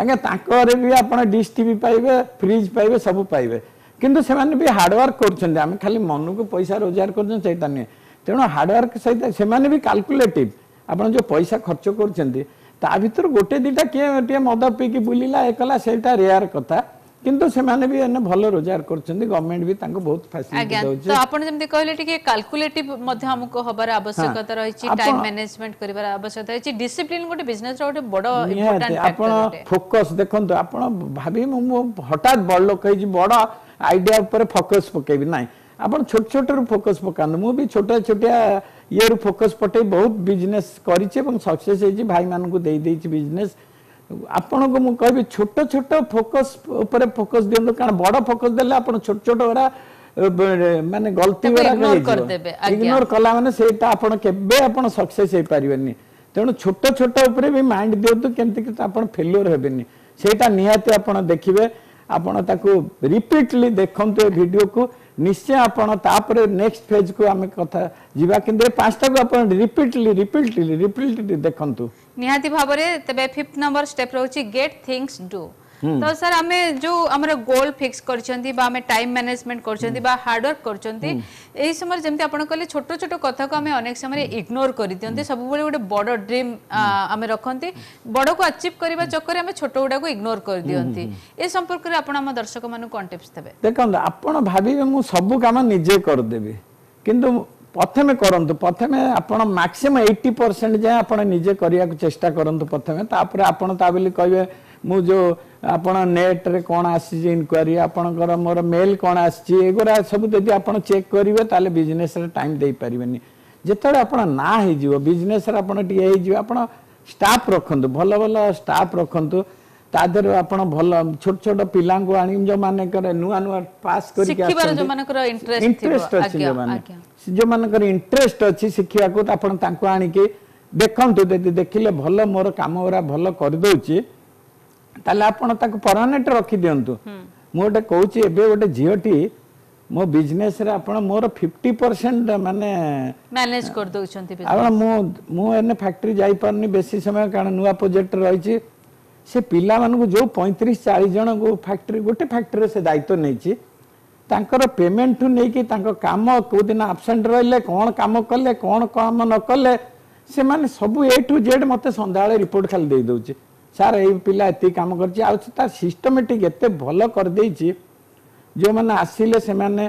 ଆଜ୍ଞା ତାଙ୍କ ଘରେ ବି ଆପଣ ଡିସ୍ ଟିଭି ପାଇବେ ଫ୍ରିଜ୍ ପାଇବେ ସବୁ ପାଇବେ କିନ୍ତୁ ସେମାନେ ବି ହାର୍ଡୱାର୍କ କରୁଛନ୍ତି ଆମେ ଖାଲି ମନକୁ ପଇସା ରୋଜଗାର କରୁଛନ୍ତି ସେଇଟା ନୁହେଁ ତେଣୁ ହାର୍ଡୱାର୍କ ସହିତ ସେମାନେ ବି କାଲକୁଲେଟିଭ ଆପଣ ଯୋଉ ପଇସା ଖର୍ଚ୍ଚ କରୁଛନ୍ତି ତା ଭିତରୁ ଗୋଟେ ଦିଟା କିଏ ଟିକେ ମଦ ପିଇକି ବୁଲିଲା ଏ କଲା ସେଇଟା ରେୟାର କଥା କିନ୍ତୁ ସେମାନେ ବି ଏନେ ଭଲ ରୋଜଗାର କରୁଛନ୍ତି ଗଭର୍ଣ୍ଣମେଣ୍ଟ ବି ତାଙ୍କୁ ବହୁତ ଫ୍ୟାସିଲିଟି ଆଜ୍ଞା ଦଉଛି ତ ଆପଣ ଯେମିତି କହିଲେ ଟିକେ କାଲକୁଲେଟିଭ ମଧ୍ୟ ଆମକୁ ହବାର ଆବଶ୍ୟକତା ରହିଛି ଆପଣ- ଟାଇମ ମ୍ୟାନେଜମେଣ୍ଟ କରିବାର ଆବଶ୍ୟକତା ରହିଛି ଡିସିପ୍ଲିନ ଗୋଟେ ବିଜନେସ ର ଗୋଟେ ବଡ ନିହାତି ଇମ୍ପୋର୍ଟାଣ୍ଟ ଆପଣ ଫ୍ୟାକ୍ଟର ଅଟେ ଫୋକସ୍ ଦେଖନ୍ତୁ ଆପଣ ଭାବି ମୁଁ ମୁଁ ହଠାତ୍ ବଡ଼ ଲୋକ ହେଇଛି ବଡ଼ ଆଇଡିଆ ଉପରେ ଫୋକସ୍ ପକେଇବି ନାହିଁ ଆପଣ ଛୋଟ ଛୋଟରୁ ଫୋକସ୍ ପକାନ୍ତୁ ମୁଁ ବି ଛୋଟ ଛୋଟିଆ ଇଏରୁ ଫୋକସ୍ ପକେଇ ବହୁତ ବିଜନେସ୍ କରିଛି ଏବଂ ସକ୍ସେସ୍ ହେଇଛି ଭାଇମାନଙ୍କୁ ଦେଇ ଦେଇଛି ବିଜନେସ୍ ଆପଣଙ୍କୁ ମୁଁ କହିବି ଛୋଟ ଛୋଟ ଫୋକସ୍ ଉପରେ ଫୋକସ୍ ଦିଅନ୍ତୁ କାରଣ ବଡ଼ ଫୋକସ୍ ଦେଲେ ଆପଣ ଛୋଟ ଛୋଟ ଗୁଡ଼ା ଅ, ବ- ମାନେ ଗଲତି ତାକୁ ଗୁଡ଼ାକ ignore ହେଇଯିବ କରିଦେବେ, ଆଜ୍ଞା। ଇଗ୍ନୋର କଲା ମାନେ ସେଇଟା ଆପଣ କେବେ ଆପଣ ସକ୍ସେସ୍ ହେଇପାରିବେନି ତେଣୁ ଛୋଟ ଛୋଟ ଉପରେ ବି ମାଇଣ୍ଡ ଦିଅନ୍ତୁ କେମିତି କି ଆପଣ ଫେଲୁଅର ହେବେନି ସେଇଟା ନିହାତି ଆପଣ ଦେଖିବେ ଆପଣ ତାକୁ ରିପିଟଲି ଦେଖନ୍ତୁ ଏ ଭିଡ଼ିଓକୁ ନିଶ୍ଚୟ ଆପଣ ତାପରେ ନେକ୍ସଟ ଫେଜକୁ ଆମେ କଥା ଯିବା କିନ୍ତୁ ଏ ପାଞ୍ଚଟାକୁ ଆପଣ ରିପିଟଲି ରିପିଟଲି ରିପିଟଲି ଦେଖନ୍ତୁ ନିହାତି ଭାବରେ ତେବେ ଫିଫ୍ଥ ନମ୍ବର ଷ୍ଟେପ ରହୁଛି ଗେଟ୍ ଥିଙ୍ଗସ୍ ଡନ୍ ତ ସାର୍ ଆମେ ଯୋଉ ଆମର ଗୋଲ ଫିକ୍ସ କରିଛନ୍ତି ବା ଆମେ ଟାଇମ ମ୍ୟାନେଜମେଣ୍ଟ କରୁଛନ୍ତି ବା ହାର୍ଡୱାର୍କ କରୁଛନ୍ତି ଏହି ସମୟରେ ଯେମିତି ଆପଣ କହିଲେ ଛୋଟ ଛୋଟ କଥାକୁ ଆମେ ଅନେକ ସମୟରେ ଇଗ୍ନୋର କରିଦିଅନ୍ତି ସବୁବେଳେ ଗୋଟେ ବଡ ଡ୍ରିମ୍ ଆମେ ରଖନ୍ତି ବଡକୁ ଆଚିଭ୍ କରିବା ଚକ୍କରେ ଆମେ ଛୋଟ ଗୁଡାକୁ ଇଗ୍ନୋର କରିଦିଅନ୍ତି ଏ ସମ୍ପର୍କରେ ଆପଣ ଆମ ଦର୍ଶକମାନଙ୍କୁ କଣ ଟିପ୍ସ ଦେବେ ଦେଖନ୍ତୁ ଆପଣ ଭାବିବେ ମୁଁ ସବୁ କାମ ନିଜେ କରିଦେବି କିନ୍ତୁ ପ୍ରଥମେ କରନ୍ତୁ ପ୍ରଥମେ ଆପଣ ମାକ୍ସିମମ୍ ଏଇଟି ପରସେଣ୍ଟ ଯାଏଁ ଆପଣ ନିଜେ କରିବାକୁ ଚେଷ୍ଟା କରନ୍ତୁ ପ୍ରଥମେ ତାପରେ ଆପଣ ତା ବୋଲି କହିବେ ମୁଁ ଯୋଉ ଆପଣ ନେଟ୍ରେ କ'ଣ ଆସିଛି ଇନକ୍ୱାରି ଆପଣଙ୍କର ମୋର ମେଲ୍ କ'ଣ ଆସିଛି ଏଗୁଡ଼ା ସବୁ ଯଦି ଆପଣ ଚେକ୍ କରିବେ ତାହେଲେ ବିଜନେସରେ ଟାଇମ୍ ଦେଇପାରିବେନି ଯେତେବେଳେ ଆପଣ ନାଁ ହେଇଯିବ ବିଜନେସରେ ଆପଣ ଟିକେ ହେଇଯିବ ଆପଣ ଷ୍ଟାଫ୍ ରଖନ୍ତୁ ଭଲ ଭଲ ଷ୍ଟାଫ୍ ରଖନ୍ତୁ ତା ଦେହରେ ଆପଣ ଭଲ ଛୋଟ ଛୋଟ ପିଲାଙ୍କୁ ଆଣି ଯୋଉମାନଙ୍କର ନୂଆ ନୂଆ ପାସ୍ କରିକି ଶିଖିବାର ଆସନ୍ତି ଯୋଉମାନଙ୍କର ଇଣ୍ଟରେଷ୍ଟ ଥିବ ଇଣ୍ଟରେଷ୍ଟ ଅଛି ଆଜ୍ଞା ଯୋଉମାନେ ଆଜ୍ଞା ଯୋଉମାନଙ୍କର ଇଣ୍ଟରେଷ୍ଟ ଅଛି ଶିଖିବାକୁ ତ ଆପଣ ତାଙ୍କୁ ଆଣିକି ଦେଖନ୍ତୁ ଯଦି ଦେଖିଲେ ଭଲ ମୋର କାମ ଗୁରା ଭଲ କରିଦଉଛି ତାହେଲେ ଆପଣ ତାକୁ ପରମାନେଣ୍ଟ ରଖିଦିଅନ୍ତୁ ମୁଁ ଗୋଟେ କହୁଛି ଏବେ ଗୋଟେ ଝିଅଟି ମୋ ବିଜନେସରେ ଆପଣ ମୋର ଫିଫ୍ଟି ପରସେଣ୍ଟ ମାନେ ମ୍ୟାନେଜ କରିଦଉଛନ୍ତି business। ଆପଣ ମୁଁ ମୁଁ ଏନେ ଫ୍ୟାକ୍ଟ୍ରି ଯାଇପାରୁନି ବେଶୀ ସମୟ କାରଣ ନୂଆ ପ୍ରୋଜେକ୍ଟ ରହିଛି ସେ ପିଲାମାନଙ୍କୁ ଯୋଉ ପଇଁତିରିଶ ଚାଳିଶ ଜଣଙ୍କୁ ଫ୍ୟାକ୍ଟ୍ରି ଗୋଟେ ଫ୍ୟାକ୍ଟ୍ରିରେ ସେ ଦାୟିତ୍ୱ ନେଇଛି ତାଙ୍କର ପେମେଣ୍ଟଠୁ ନେଇକି ତାଙ୍କ କାମ କୋଉ ଦିନ ଆବସେଣ୍ଟ ରହିଲେ କ'ଣ କାମ କଲେ କ'ଣ କାମ ନ କଲେ ସେମାନେ ସବୁ ଏ ଟୁ ଜେଡ୍ ମୋତେ ସନ୍ଧ୍ୟାବେଳେ ରିପୋର୍ଟ ଖାଲି ଦେଇ ଦଉଛି ସାର୍ ଏଇ ପିଲା ଏତିକି କାମ କରିଛି ଆଉ ସେ ତାର ସିଷ୍ଟମେଟିକ୍ ଏତେ ଭଲ କରିଦେଇଛି ଯେଉଁମାନେ ଆସିଲେ ସେମାନେ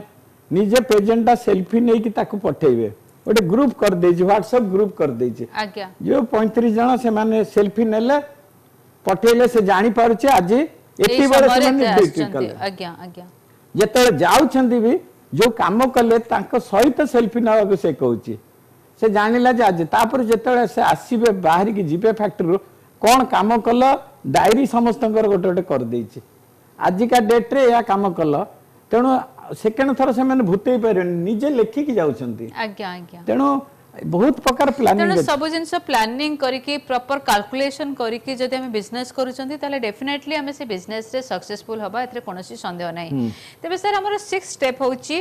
ନିଜେ ପ୍ରେଜେଣ୍ଟଟା ସେଲ୍ଫି ନେଇକି ତାକୁ ପଠେଇବେ ଗୋଟେ ଗ୍ରୁପ୍ କରିଦେଇଛି ହ୍ୱାଟ୍ସଆପ୍ ଗ୍ରୁପ୍ କରିଦେଇଛି ଆଜ୍ଞା ଯୋଉ ପଇଁତିରିଶ ଜଣ ସେମାନେ ସେଲ୍ଫି ନେଲେ ପଠେଇଲେ ସେ ଜାଣିପାରୁଛି ଆଜି ଏଇ ଏତିକି ବେଳେ ସମୟରେ ସେମାନେ ଏତେ ଡ୍ୟୁଟି ଆସିଛନ୍ତି କଲେ ଆଜ୍ଞା ଆଜ୍ଞା ଯେତେବେଳେ ଯାଉଛନ୍ତି ବି ଯୋଉ କାମ କଲେ ତାଙ୍କ ସହିତ ସେଲ୍ଫି ନେବାକୁ ସେ କହୁଛି ସେ ଜାଣିଲା ଯେ ଆଜି ତାପରେ ଯେତେବେଳେ ସେ ଆସିବେ ବାହାରିକି ଯିବେ ଫ୍ୟାକ୍ଟ୍ରିରୁ କ'ଣ କାମ କଲ ଡାଏରୀ ସମସ୍ତଙ୍କର ଗୋଟେ ଗୋଟେ କରିଦେଇଛି ଆଜିକା ଡେଟ୍ରେ ଏହା କାମ କଲ ତେଣୁ ସେକେଣ୍ଡ ଥର ସେମାନେ ଭୁତେଇ ପାରିବେନି ନିଜେ ଲେଖିକି ଯାଉଛନ୍ତି ଆଜ୍ଞା ଆଜ୍ଞା ତେଣୁ ବହୁତ ପ୍ରକାର ପ୍ଲାନିଂ ତେଣୁ ସବୁ ଜିନିଷ ପ୍ଲାନିଂ କରିକି ପ୍ରପର କାଲକୁଲେସନ କରିକି ଯଦି ଆମେ ବିଜନେସ୍ କରୁଛନ୍ତି ତାହେଲେ ଡେଫିନେଟଲି ଆମେ ସେ ବିଜନେସରେ ସକ୍ସେସଫୁଲ ହବା ଏଥିରେ କୌଣସି ସନ୍ଦେହ ନାହିଁ ତେବେ ସାର୍ ଆମର ସିକ୍ସ ଷ୍ଟେପ୍ ହେଉଛି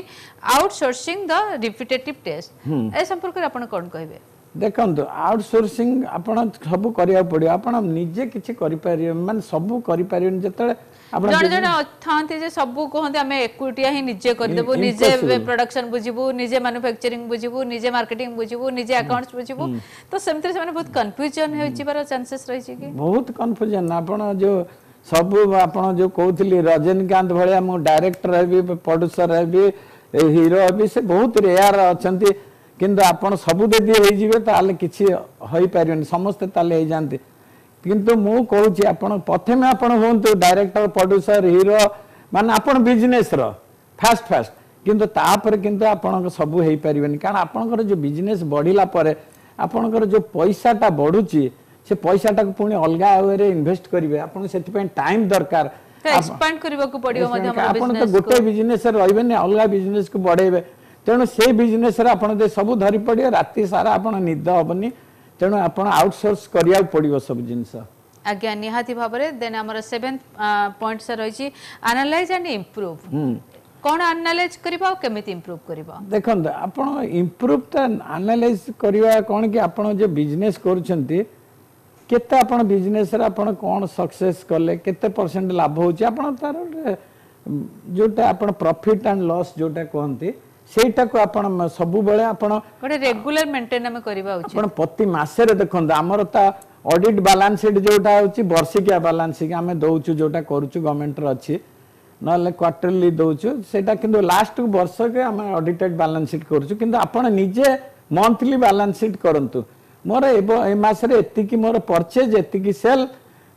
ଆଉଟସୋର୍ସିଂ ଦ ରିପିଟେଟିଭ୍ ଟାସ୍କ ଏ ସମ୍ପର୍କରେ ଆପଣ କ'ଣ କହିବେ ଦେଖନ୍ତୁ ଆଉଟସୋର୍ସିଂ ଆପଣ ସବୁ କରିବାକୁ ପଡ଼ିବ ଆପଣ ନିଜେ କିଛି କରିପାରିବେ ମାନେ ସବୁ କରିପାରିବେନି ଯେତେବେଳେ ଆପଣ ଜଣେ ଜଣେ ଥାନ୍ତି ଯେ ସବୁ କୁହନ୍ତି ଆମେ ଏକୁଟିଆ ହିଁ ନିଜେ କରିଦେବୁ ନିଜେ ପ୍ରଡକ୍ସନ ବୁଝିବୁ ନିଜେ ମାନୁଫ୍ୟାକ୍ଚରିଂ ବୁଝିବୁ ନିଜେ ମାର୍କେଟିଂ ବୁଝିବୁ ନିଜେ ଆକାଉଣ୍ଟସ ବୁଝିବୁ ତ ସେମିତିରେ ସେମାନେ ବହୁତ କନଫ୍ୟୁଜନ ହେଇଯିବାର ଚାନ୍ସେସ୍ ରହିଛି କି ବହୁତ କନଫ୍ୟୁଜନ ଆପଣ ଯୋଉ ସବୁ ଆପଣ ଯୋଉ କହୁଥିଲି ରଜନୀକାନ୍ତ ଭଳିଆ ମୁଁ ଡାଇରେକ୍ଟର ହେବି ପ୍ରଡ୍ୟୁସର ହେବି ହିରୋ ହେବି ସେ ବହୁତ ରେୟାର ଅଛନ୍ତି କିନ୍ତୁ ଆପଣ ସବୁ ଯଦି ହେଇଯିବେ ତାହେଲେ କିଛି ହେଇପାରିବେନି ସମସ୍ତେ ତାହେଲେ ହେଇଯାଆନ୍ତି କିନ୍ତୁ ମୁଁ କହୁଛି ଆପଣ ପ୍ରଥମେ ଆପଣ ହୁଅନ୍ତୁ ଡାଇରେକ୍ଟର ପ୍ରଡ୍ୟୁସର ହିରୋ ମାନେ ଆପଣ ବିଜନେସର ଫାଷ୍ଟ ଫାଷ୍ଟ କିନ୍ତୁ ତାପରେ କିନ୍ତୁ ଆପଣଙ୍କ ସବୁ ହେଇପାରିବେନି କାରଣ ଆପଣଙ୍କର ଯୋଉ ବିଜନେସ୍ ବଢିଲା ପରେ ଆପଣଙ୍କର ଯୋଉ ପଇସାଟା ବଢୁଛି ସେ ପଇସାଟାକୁ ପୁଣି ଅଲଗା ୱେରେ ଇନଭେଷ୍ଟ କରିବେ ଆପଣଙ୍କୁ ସେଥିପାଇଁ ଟାଇମ୍ ଦରକାର ତ ଏକ୍ସପାଣ୍ଡ କରିବାକୁ ପଡିବ ମଧ୍ୟ ଆମର ଆପଣ ତ ବିଜନେସ ଗୋଟେ ବିଜନେସରେ ରହିବେନି ଅଲଗା ବିଜନେସକୁ ବଢେଇବେ ତେଣୁ ସେଇ ବିଜନେସରେ ଆପଣ ଯଦି ସବୁ ଧରି ପଡିବେ ରାତି ସାରା ଆପଣ ନିଦ ହବନି ତେଣୁ ଆପଣ ଆଉଟସୋର୍ସ କରିବାକୁ ପଡିବ ସବୁ ଜିନିଷ ଆଜ୍ଞା ନିହାତି ଭାବରେ ଦେନ୍ ଆମର ସେଭେନ୍ଥ ପଏଣ୍ଟ ସାର୍ ରହିଛି ଆନାଲାଇଜ ଆଣ୍ଡ ଇମ୍ପ୍ରୁଭ କ'ଣ ଆନାଲାଇଜ କରିବା ଆଉ କେମିତି ଇମ୍ପ୍ରୁଭ କରିବା ଦେଖନ୍ତୁ ଆପଣ ଇମ୍ପ୍ରୁଭଟା ଆନାଲାଇଜ କରିବା କ'ଣ କି ଆପଣ ଯେ ବିଜନେସ୍ କରୁଛନ୍ତି କେତେ ଆପଣ ବିଜନେସରେ ଆପଣ କ'ଣ ସକ୍ସେସ୍ କଲେ କେତେ ପରସେଣ୍ଟ ଲାଭ ହେଉଛି ଆପଣ ତାର ଗୋଟେ ଯୋଉଟା ଆପଣ ପ୍ରଫିଟ୍ ଆଣ୍ଡ ଲସ୍ ଯୋଉଟା କୁହନ୍ତି ସେଇଟାକୁ ଆପଣ ସବୁବେଳେ ଆପଣ ଗୋଟେ ରେଗୁଲାର ମେଣ୍ଟେନ ଆମେ କରିବା ଉଚିତ ଆପଣ ପ୍ରତି ମାସରେ ଦେଖନ୍ତୁ ଆମର ତା ଅଡିଟ୍ ବାଲାନ୍ସ ସିଟ୍ ଯୋଉଟା ହେଉଛି ବର୍ଷିକିଆ ବାଲାନ୍ସ ସିଟ୍ ଆମେ ଦଉଛୁ ଯୋଉଟା କରୁଛୁ ଗଭର୍ଣ୍ଣମେଣ୍ଟର ଅଛି ନହେଲେ କ୍ୱାର୍ଟରଲି ଦଉଛୁ ସେଇଟା କିନ୍ତୁ ଲାଷ୍ଟକୁ ବର୍ଷକେ ଆମେ ଅଡିଟେଡ୍ ବାଲାନ୍ସ ସିଟ୍ କରୁଛୁ କିନ୍ତୁ ଆପଣ ନିଜେ ମନ୍ଥଲି ବାଲାନ୍ସ ସିଟ୍ କରନ୍ତୁ ମୋର ଏ ମାସରେ ଏତିକି ମୋର ପରଚେଜ ଏତିକି ସେଲ୍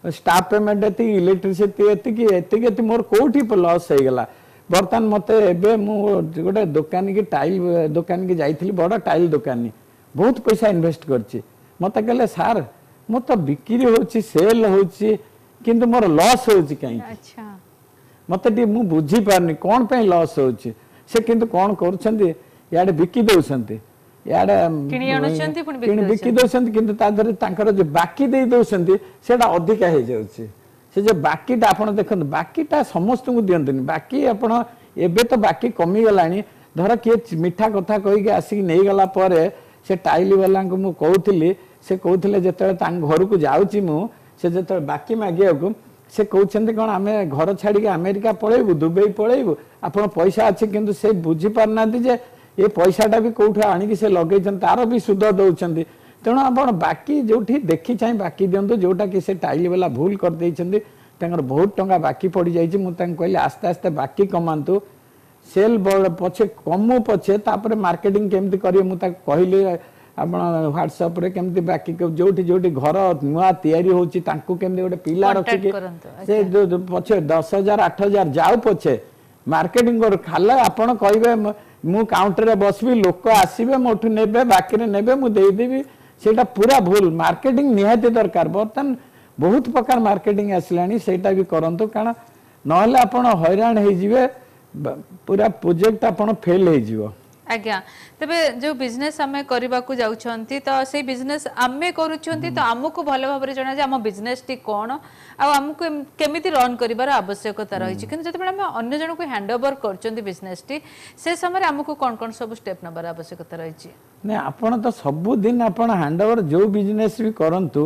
ଷ୍ଟାଫ୍ ପେମେଣ୍ଟ ଏତିକି ଇଲେକ୍ଟ୍ରିସିଟି ଏତିକି ଏତିକି ଏତିକି ମୋର କୋଉଠି ଲସ୍ ହେଇଗଲା ବର୍ତ୍ତମାନ ମୋତେ ଏବେ ମୁଁ ଗୋଟେ ଦୋକାନୀକି ଟାଇଲ୍ ଦୋକାନୀକି ଯାଇଥିଲି ବଡ଼ ଟାଇଲ୍ ଦୋକାନୀ ବହୁତ ପଇସା ଇନଭେଷ୍ଟ କରିଛି ମୋତେ କହିଲେ ସାର୍ ମୁଁ ତ ବିକ୍ରି ହେଉଛି ସେଲ୍ ହେଉଛି କିନ୍ତୁ ମୋର ଲସ୍ ହେଉଛି କାହିଁକି ଆଚ୍ଛା ମୋତେ ଟିକେ ମୁଁ ବୁଝିପାରୁନି କ'ଣ ପାଇଁ ଲସ୍ ହେଉଛି ସେ କିନ୍ତୁ କ'ଣ କରୁଛନ୍ତି ଇଆଡ଼େ ବିକି ଦେଉଛନ୍ତି ଇଆଡ଼େ କିଣି ଆଣୁଛନ୍ତି, ପୁଣି ବିକି କିଣି ବିକି ଦେଉଛନ୍ତି କିନ୍ତୁ ତା ଦେହରେ ତାଙ୍କର ଯୋଉ ବାକି ଦେଇ ଦେଉଛନ୍ତି ସେଇଟା ଅଧିକା ହେଇଯାଉଛି ସେ ଯୋଉ ବାକିଟା ଆପଣ ଦେଖନ୍ତୁ ବାକିଟା ସମସ୍ତଙ୍କୁ ଦିଅନ୍ତୁନି ବାକି ଆପଣ ଏବେ ତ ବାକି କମିଗଲାଣି ଧର କିଏ ମିଠା କଥା କହିକି ଆସିକି ନେଇଗଲା ପରେ ସେ ଟାଇଲି ବାଲାଙ୍କୁ ମୁଁ କହୁଥିଲି ସେ କହୁଥିଲେ ଯେତେବେଳେ ତାଙ୍କ ଘରକୁ ଯାଉଛି ମୁଁ ସେ ଯେତେବେଳେ ବାକି ମାଗିବାକୁ ସେ କହୁଛନ୍ତି କ'ଣ ଆମେ ଘର ଛାଡ଼ିକି ଆମେରିକା ପଳେଇବୁ ଦୁବାଇ ପଳେଇବୁ ଆପଣ ପଇସା ଅଛି କିନ୍ତୁ ସେ ବୁଝିପାରୁନାହାନ୍ତି ଯେ ଏ ପଇସାଟା ବି କୋଉଠୁ ଆଣିକି ସେ ଲଗେଇଛନ୍ତି ତାର ବି ସୁଧ ଦେଉଛନ୍ତି ତେଣୁ ଆପଣ ବାକି ଯୋଉଠି ଦେଖି ଚାହିଁ ବାକି ଦିଅନ୍ତୁ ଯୋଉଟା କି ସେ ଟାଇଲି ବାଲା ଭୁଲ କରିଦେଇଛନ୍ତି ତାଙ୍କର ବହୁତ ଟଙ୍କା ବାକି ପଡ଼ିଯାଇଛି ମୁଁ ତାଙ୍କୁ କହିଲି ଆସ୍ତେ ଆସ୍ତେ ବାକି କମାନ୍ତୁ ସେଲ୍ ପଛେ କମୁ ପଛେ ତାପରେ ମାର୍କେଟିଂ କେମିତି କରିବେ ମୁଁ ତାକୁ କହିଲି ଆପଣ ହ୍ୱାଟ୍ସଆପ୍ରେ କେମିତି ବାକି ଯୋଉଠି ଯୋଉଠି ଘର ନୂଆ ତିଆରି ହେଉଛି ତାଙ୍କୁ କେମିତି ଗୋଟେ ପିଲା Contact ରଖିକି କରନ୍ତୁ, ସେ ଯୋଉ ଯୋଉ ପଛେ ଦଶ ହଜାର ଆଠ ହଜାର ଯାଉ ପଛେ ମାର୍କେଟିଂ କରୁ ଖାଲି ଆପଣ କହିବେ ମ- ମୁଁ କାଉଣ୍ଟରରେ ବସିବି ଲୋକ ଆସିବେ ମୋଠୁ ନେବେ ବାକିରେ ନେବେ ମୁଁ ଦେଇଦେବି ସେଇଟା ପୁରା ଭୁଲ ମାର୍କେଟିଂ ନିହାତି ଦରକାର ବର୍ତ୍ତମାନ ବହୁତ ପ୍ରକାର ମାର୍କେଟିଂ ଆସିଲାଣି ସେଇଟା ବି କରନ୍ତୁ କାରଣ ନହେଲେ ଆପଣ ହଇରାଣ ହେଇଯିବେ ବ- ପୁରା ପ୍ରୋଜେକ୍ଟ ଆପଣ ଫେଲ୍ ହେଇଯିବ ଆଜ୍ଞା ତେବେ ଯୋଉ ବିଜନେସ୍ ଆମେ କରିବାକୁ ଯାଉଛନ୍ତି ତ ସେଇ ବିଜନେସ୍ ଆମେ କରୁଛନ୍ତି ତ ଆମକୁ ଭଲ ଭାବରେ ଜଣା ଯେ ଆମ ବିଜନେସଟି କ'ଣ ଆଉ ଆମକୁ ଏମ୍- କେମିତି ରନ୍ କରିବାର ଆବଶ୍ୟକତା ରହିଛି କିନ୍ତୁ ଯେତେବେଳେ ଆମେ ଅନ୍ୟ ଜଣକୁ ହ୍ୟାଣ୍ଡ ଓଭର କରୁଛନ୍ତି ବିଜନେସଟି ସେ ସମୟରେ ଆମକୁ କ'ଣ କ'ଣ ସବୁ ଷ୍ଟେପ୍ ନେବାର ଆବଶ୍ୟକତା ରହିଛି ନାଇଁ ଆପଣ ତ ସବୁଦିନ ଆପଣ ହ୍ୟାଣ୍ଡ ଓଭର ଯୋଉ ବିଜନେସ୍ ବି କରନ୍ତୁ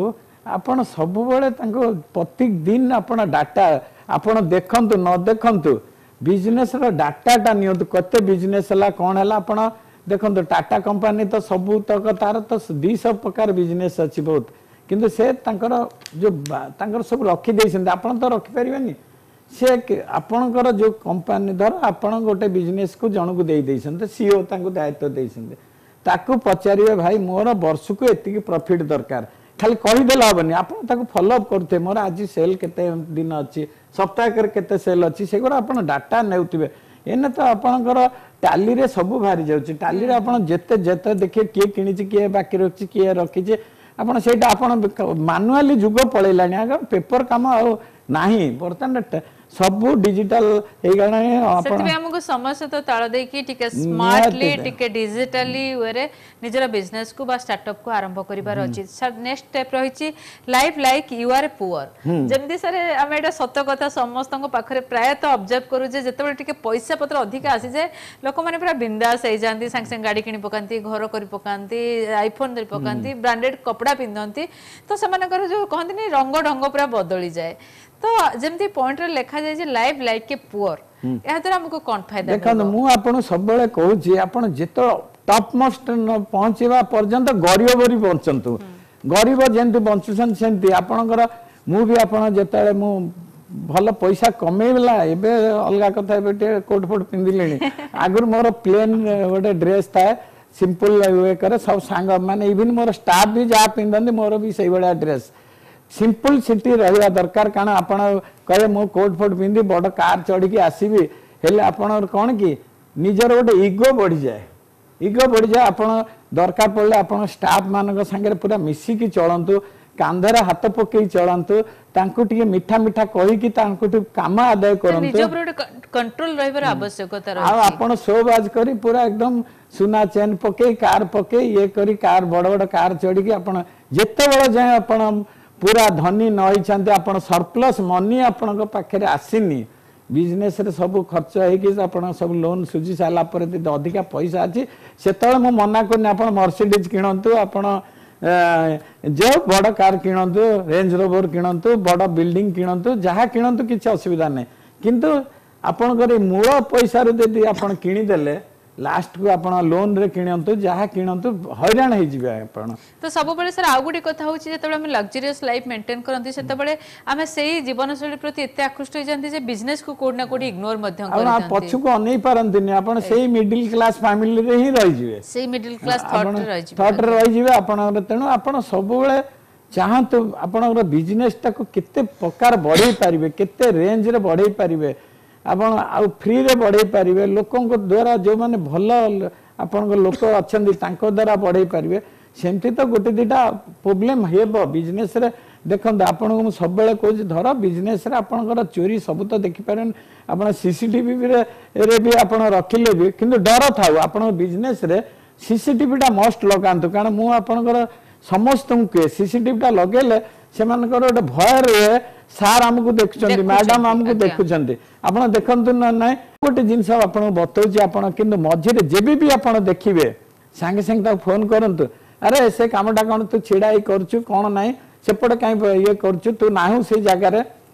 ଆପଣ ସବୁବେଳେ ତାଙ୍କୁ ପ୍ରତ୍ୟେକ ଦିନ ଆପଣ ଡାଟା ଆପଣ ଦେଖନ୍ତୁ ନ ଦେଖନ୍ତୁ ବିଜନେସର ଡାଟାଟା ନିଅନ୍ତୁ କେତେ ବିଜନେସ୍ ହେଲା କ'ଣ ହେଲା ଆପଣ ଦେଖନ୍ତୁ ଟାଟା କମ୍ପାନୀ ତ ସବୁ ତକ ତାର ତ ଦୁଇଶହ ପ୍ରକାର ବିଜନେସ୍ ଅଛି ବହୁତ କିନ୍ତୁ ସେ ତାଙ୍କର ଯୋଉ ବା- ତାଙ୍କର ସବୁ ରଖିଦେଇଛନ୍ତି ଆପଣ ତ ରଖିପାରିବେନି ସେ କେ- ଆପଣଙ୍କର ଯୋଉ କମ୍ପାନୀ ଧର ଆପଣ ଗୋଟେ ବିଜନେସକୁ ଜଣକୁ ଦେଇ ଦେଇଛନ୍ତି ସିଓ ତାଙ୍କୁ ଦାୟିତ୍ୱ ଦେଇଛନ୍ତି ତାକୁ ପଚାରିବେ ଭାଇ ମୋର ବର୍ଷକୁ ଏତିକି ପ୍ରଫିଟ୍ ଦରକାର ଖାଲି କହିଦେଲେ ହବନି ଆପଣ ତାକୁ ଫଲୋ ଅପ୍ କରୁଥିବେ ମୋର ଆଜି ସେଲ୍ କେତେ ଦିନ ଅଛି ସପ୍ତାହକରେ କେତେ ସେଲ୍ ଅଛି ସେଗୁଡ଼ା ଆପଣ ଡାଟା ନେଉଥିବେ ଏଇନେ ତ ଆପଣଙ୍କର ଟାଲିରେ ସବୁ ବାହାରି ଯାଉଛି ଟାଲିରେ ଆପଣ ଯେତେ ଯେତେ ଦେଖିବେ କିଏ କିଣିଛି କିଏ ବାକି ରଖିଛି କିଏ ରଖିଛି ଆପଣ ସେଇଟା ଆପଣ ମାନୁଆଲି ଯୁଗ ପଳେଇଲାଣି ଆଗ ପେପର କାମ ଆଉ ନାହିଁ ବର୍ତ୍ତମାନ ଟ- ସବୁ ଡିଜିଟାଲ ହେଇଗଲାଣି ଆପଣ ସେଥିପାଇଁ ଆମକୁ ସମୟ ସହିତ ତାଳ ଦେଇକି ଟିକେ ସ୍ମାର୍ଟଲି ଟିକେ ଡିଜିଟାଲି ୱେରେ ନିଜର ବିଜନେସକୁ ବା ଷ୍ଟାର୍ଟଅପକୁ ଆରମ୍ଭ କରିବାର ଅଛି ସାର୍ ନେକ୍ସଟ ଷ୍ଟେପ୍ ରହିଛି live like you are poor ଯେମିତି ସାର୍ ଆମେ ଏଇଟା ସତ କଥା ସମସ୍ତଙ୍କ ପାଖରେ ପ୍ରାୟତଃ ଅବଜର୍ଭ କରୁ ଯେ ଯେତେବେଳେ ଟିକେ ପଇସା ପତ୍ର ଅଧିକା ଆସିଯାଏ ଲୋକମାନେ ପୁରା ବିନ୍ଦାସ ହେଇଯାଆନ୍ତି ସାଙ୍ଗେ ସାଙ୍ଗେ ଗାଡ଼ି କିଣି ପକାନ୍ତି ଘର କରି ପକାନ୍ତି ଆଇଫୋନ୍ ଧରି ପକାନ୍ତି ବ୍ରାଣ୍ଡେଡ୍ କପଡ଼ା ପିନ୍ଧନ୍ତି ତ ସେମାନଙ୍କର ଯୋଉ କହନ୍ତିନି ରଙ୍ଗ ଢଙ୍ଗ ପୁରା ବଦଳିଯାଏ ତ ଯେମିତି ପଏଣ୍ଟରେ ଲେଖାଯାଏ ଯେ ଲାଇଭ୍ ଲାଇକ୍ ଏ ପୁଅର ଏହା ଦ୍ୱାରା ଆମକୁ କ'ଣ ଫାଇଦା ଦେଖନ୍ତୁ ମୁଁ ଆପଣଙ୍କୁ ସବୁବେଳେ କହୁଛି ଆପଣ ଯେତେବେଳେ ଟପ୍ ମୋଷ୍ଟ ପହଞ୍ଚିବା ପର୍ଯ୍ୟନ୍ତ ଗରିବ ପରି ବଞ୍ଚନ୍ତୁ ଗରିବ ଯେମିତି ବଞ୍ଚୁଛନ୍ତି ସେମିତି ଆପଣଙ୍କର ମୁଁ ବି ଆପଣ ଯେତେବେଳେ ମୁଁ ଭଲ ପଇସା କମେଇଲା ଏବେ ଅଲଗା କଥା ଏବେ ଟିକେ କୋଟ୍ ଫୋଟ୍ ପିନ୍ଧିଲିଣି ଆଗରୁ ମୋର ପ୍ଲେନ୍ ଗୋଟେ ଡ୍ରେସ୍ ଥାଏ ସିମ୍ପଲ ଇଏ କରେ ସବୁ ସାଙ୍ଗ ମାନେ ଇଭିନ୍ ମୋର ଷ୍ଟାଫ୍ ବି ଯାହା ପିନ୍ଧନ୍ତି ମୋର ବି ସେଇଭଳିଆ ଡ୍ରେସ୍ ସିମ୍ପଲ ସିଟି ରହିବା ଦରକାର କାରଣ ଆପଣ କହିବେ ମୁଁ କୋଟ୍ ଫୋଟ୍ ପିନ୍ଧି ବଡ଼ କାର୍ ଚଢ଼ିକି ଆସିବି ହେଲେ ଆପଣଙ୍କର କ'ଣ କି ନିଜର ଗୋଟେ ଇଗୋ ବଢ଼ିଯାଏ ଇଗୋ ବଢ଼ିଯାଏ ଆପଣ ଦରକାର ପଡ଼ିଲେ ଆପଣ ଷ୍ଟାଫ୍ ମାନଙ୍କ ସାଙ୍ଗରେ ପୁରା ମିଶିକି ଚଳନ୍ତୁ କାନ୍ଧରେ ହାତ ପକେଇ ଚଳନ୍ତୁ ତାଙ୍କୁ ଟିକେ ମିଠା ମିଠା କହିକି ତାଙ୍କଠୁ କାମ ଆଦାୟ କରନ୍ତୁ ନିଜ ଉପରେ ଗୋଟେ କଣ୍ଟ୍ରୋଲ ରହିବାର ଆବଶ୍ୟକତା ଆଉ ରହିଛି ଆପଣ ଶୋବାଜ କରି ପୁରା ଏକଦମ ସୁନା ଚେନ୍ ପକେଇ କାର୍ ପକେଇ ଇଏ କରି କାର୍ ବଡ଼ ବଡ଼ କାର୍ ଚଢ଼ିକି ଆପଣ ଯେତେବେଳେ ଯାଏଁ ଆପଣ ପୁରା ଧନୀ ନ ହେଇଛନ୍ତି ଆପଣ ସରପ୍ଲସ୍ ମନି ଆପଣଙ୍କ ପାଖରେ ଆସିନି ବିଜନେସରେ ସବୁ ଖର୍ଚ୍ଚ ହେଇକି ଆପଣ ସବୁ ଲୋନ୍ ସୁଝି ସାରିଲା ପରେ ଯଦି ଅଧିକା ପଇସା ଅଛି ସେତେବେଳେ ମୁଁ ମନା କରୁନି ଆପଣ ମର୍ସିଡିଜ୍ କିଣନ୍ତୁ ଆପଣ ଯେଉଁ ବଡ଼ କାର୍ କିଣନ୍ତୁ ରେଞ୍ଜ ରୋଭର କିଣନ୍ତୁ ବଡ଼ ବିଲ୍ଡିଂ କିଣନ୍ତୁ ଯାହା କିଣନ୍ତୁ କିଛି ଅସୁବିଧା ନାହିଁ କିନ୍ତୁ ଆପଣଙ୍କର ଏଇ ମୂଳ ପଇସାରୁ ଯଦି ଆପଣ କିଣିଦେଲେ ଲାଷ୍ଟକୁ ଆପଣ ଲୋନରେ କିଣନ୍ତୁ ଯାହା କିଣନ୍ତୁ ହଇରାଣ ହେଇଯିବେ ଆପଣ ତ ସବୁବେଳେ ସାର୍ ଆଉ ଗୋଟେ କଥା ହେଉଛି ଯେତେବେଳେ ଆମେ ଲକ୍ଜରିୟସ୍ ଲାଇଫ୍ ମେଣ୍ଟେନ୍ କରନ୍ତି ସେତେବେଳେ ଆମେ ସେଇ ଜୀବନଶୈଳୀ ପ୍ରତି ଏତେ ଆକୃଷ୍ଟ ହେଇଯାନ୍ତି ଯେ ବିଜନେସକୁ କୋଉଠି ନା କୋଉଠି ଇଗ୍ନୋର ମଧ୍ୟ ଆପଣ କରିଦିଅନ୍ତି ପଛକୁ ଅନେଇ ପାରନ୍ତିନି ଆପଣ ସେଇ ମିଡିଲ କ୍ଲାସ ଫ୍ୟାମିଲିରେ ହିଁ ରହିଯିବେ ସେଇ ମିଡିଲ କ୍ଲାସ ଥଟ୍ରେ ରହିଯିବେ ଥଟ୍ରେ ରହିଯିବେ ଆପଣଙ୍କର ତେଣୁ ଆପଣ ସବୁବେଳେ ଚାହାନ୍ତୁ ଆପଣଙ୍କର ବିଜନେସଟାକୁ କେତେ ପ୍ରକାର ବଢ଼େଇ ପାରିବେ କେତେ ରେଞ୍ଜରେ ବଢ଼େଇ ପାରିବେ ଆପଣ ଆଉ ଫ୍ରିରେ ବଢ଼େଇ ପାରିବେ ଲୋକଙ୍କ ଦ୍ୱାରା ଯେଉଁମାନେ ଭଲ ଆପଣଙ୍କ ଲୋକ ଅଛନ୍ତି ତାଙ୍କ ଦ୍ୱାରା ବଢ଼େଇ ପାରିବେ ସେମିତି ତ ଗୋଟେ ଦୁଇଟା ପ୍ରୋବ୍ଲେମ୍ ହେବ ବିଜନେସରେ ଦେଖନ୍ତୁ ଆପଣଙ୍କୁ ମୁଁ ସବୁବେଳେ କହୁଛି ଧର ବିଜନେସରେ ଆପଣଙ୍କର ଚୋରି ସବୁ ତ ଦେଖିପାରିବେନି ଆପଣ ସିସିଟିଭିରେ ବି ଆପଣ ରଖିଲେ ବି କିନ୍ତୁ ଡର ଥାଉ ଆପଣଙ୍କ ବିଜନେସରେ ସିସିଟିଭିଟା ମଷ୍ଟ ଲଗାନ୍ତୁ କାରଣ ମୁଁ ଆପଣଙ୍କର ସମସ୍ତଙ୍କୁ କୁହେ ସିସିଟିଭିଟା ଲଗେଇଲେ ସେମାନଙ୍କର ଗୋଟେ ଭୟ ରୁହେ ସାର୍ ଆମକୁ ଦେଖୁଛନ୍ତି ମ୍ୟାଡାମ ଆମକୁ ଆଜ୍ଞା। ଦେଖୁଛନ୍ତି ଆପଣ ଦେଖନ୍ତୁ ନା ନାଇଁ ଗୋଟେ ଜିନିଷ ଆପଣଙ୍କୁ ବତଉଛି ଆପଣ କିନ୍ତୁ ମଝିରେ ଯେବେ ବି ଆପଣ ଦେଖିବେ ସାଙ୍ଗେ ସାଙ୍ଗେ ତାକୁ ଫୋନ କରନ୍ତୁ ଆରେ ସେ କାମଟା କ'ଣ ତୁ ଛିଡ଼ା ହେଇ କରୁଛୁ କ'ଣ ନାହିଁ ସେପଟେ କାହିଁ ଇଏ କରୁଛୁ ତୁ ନାହୁଁ ସେଇ ଜାଗାରେ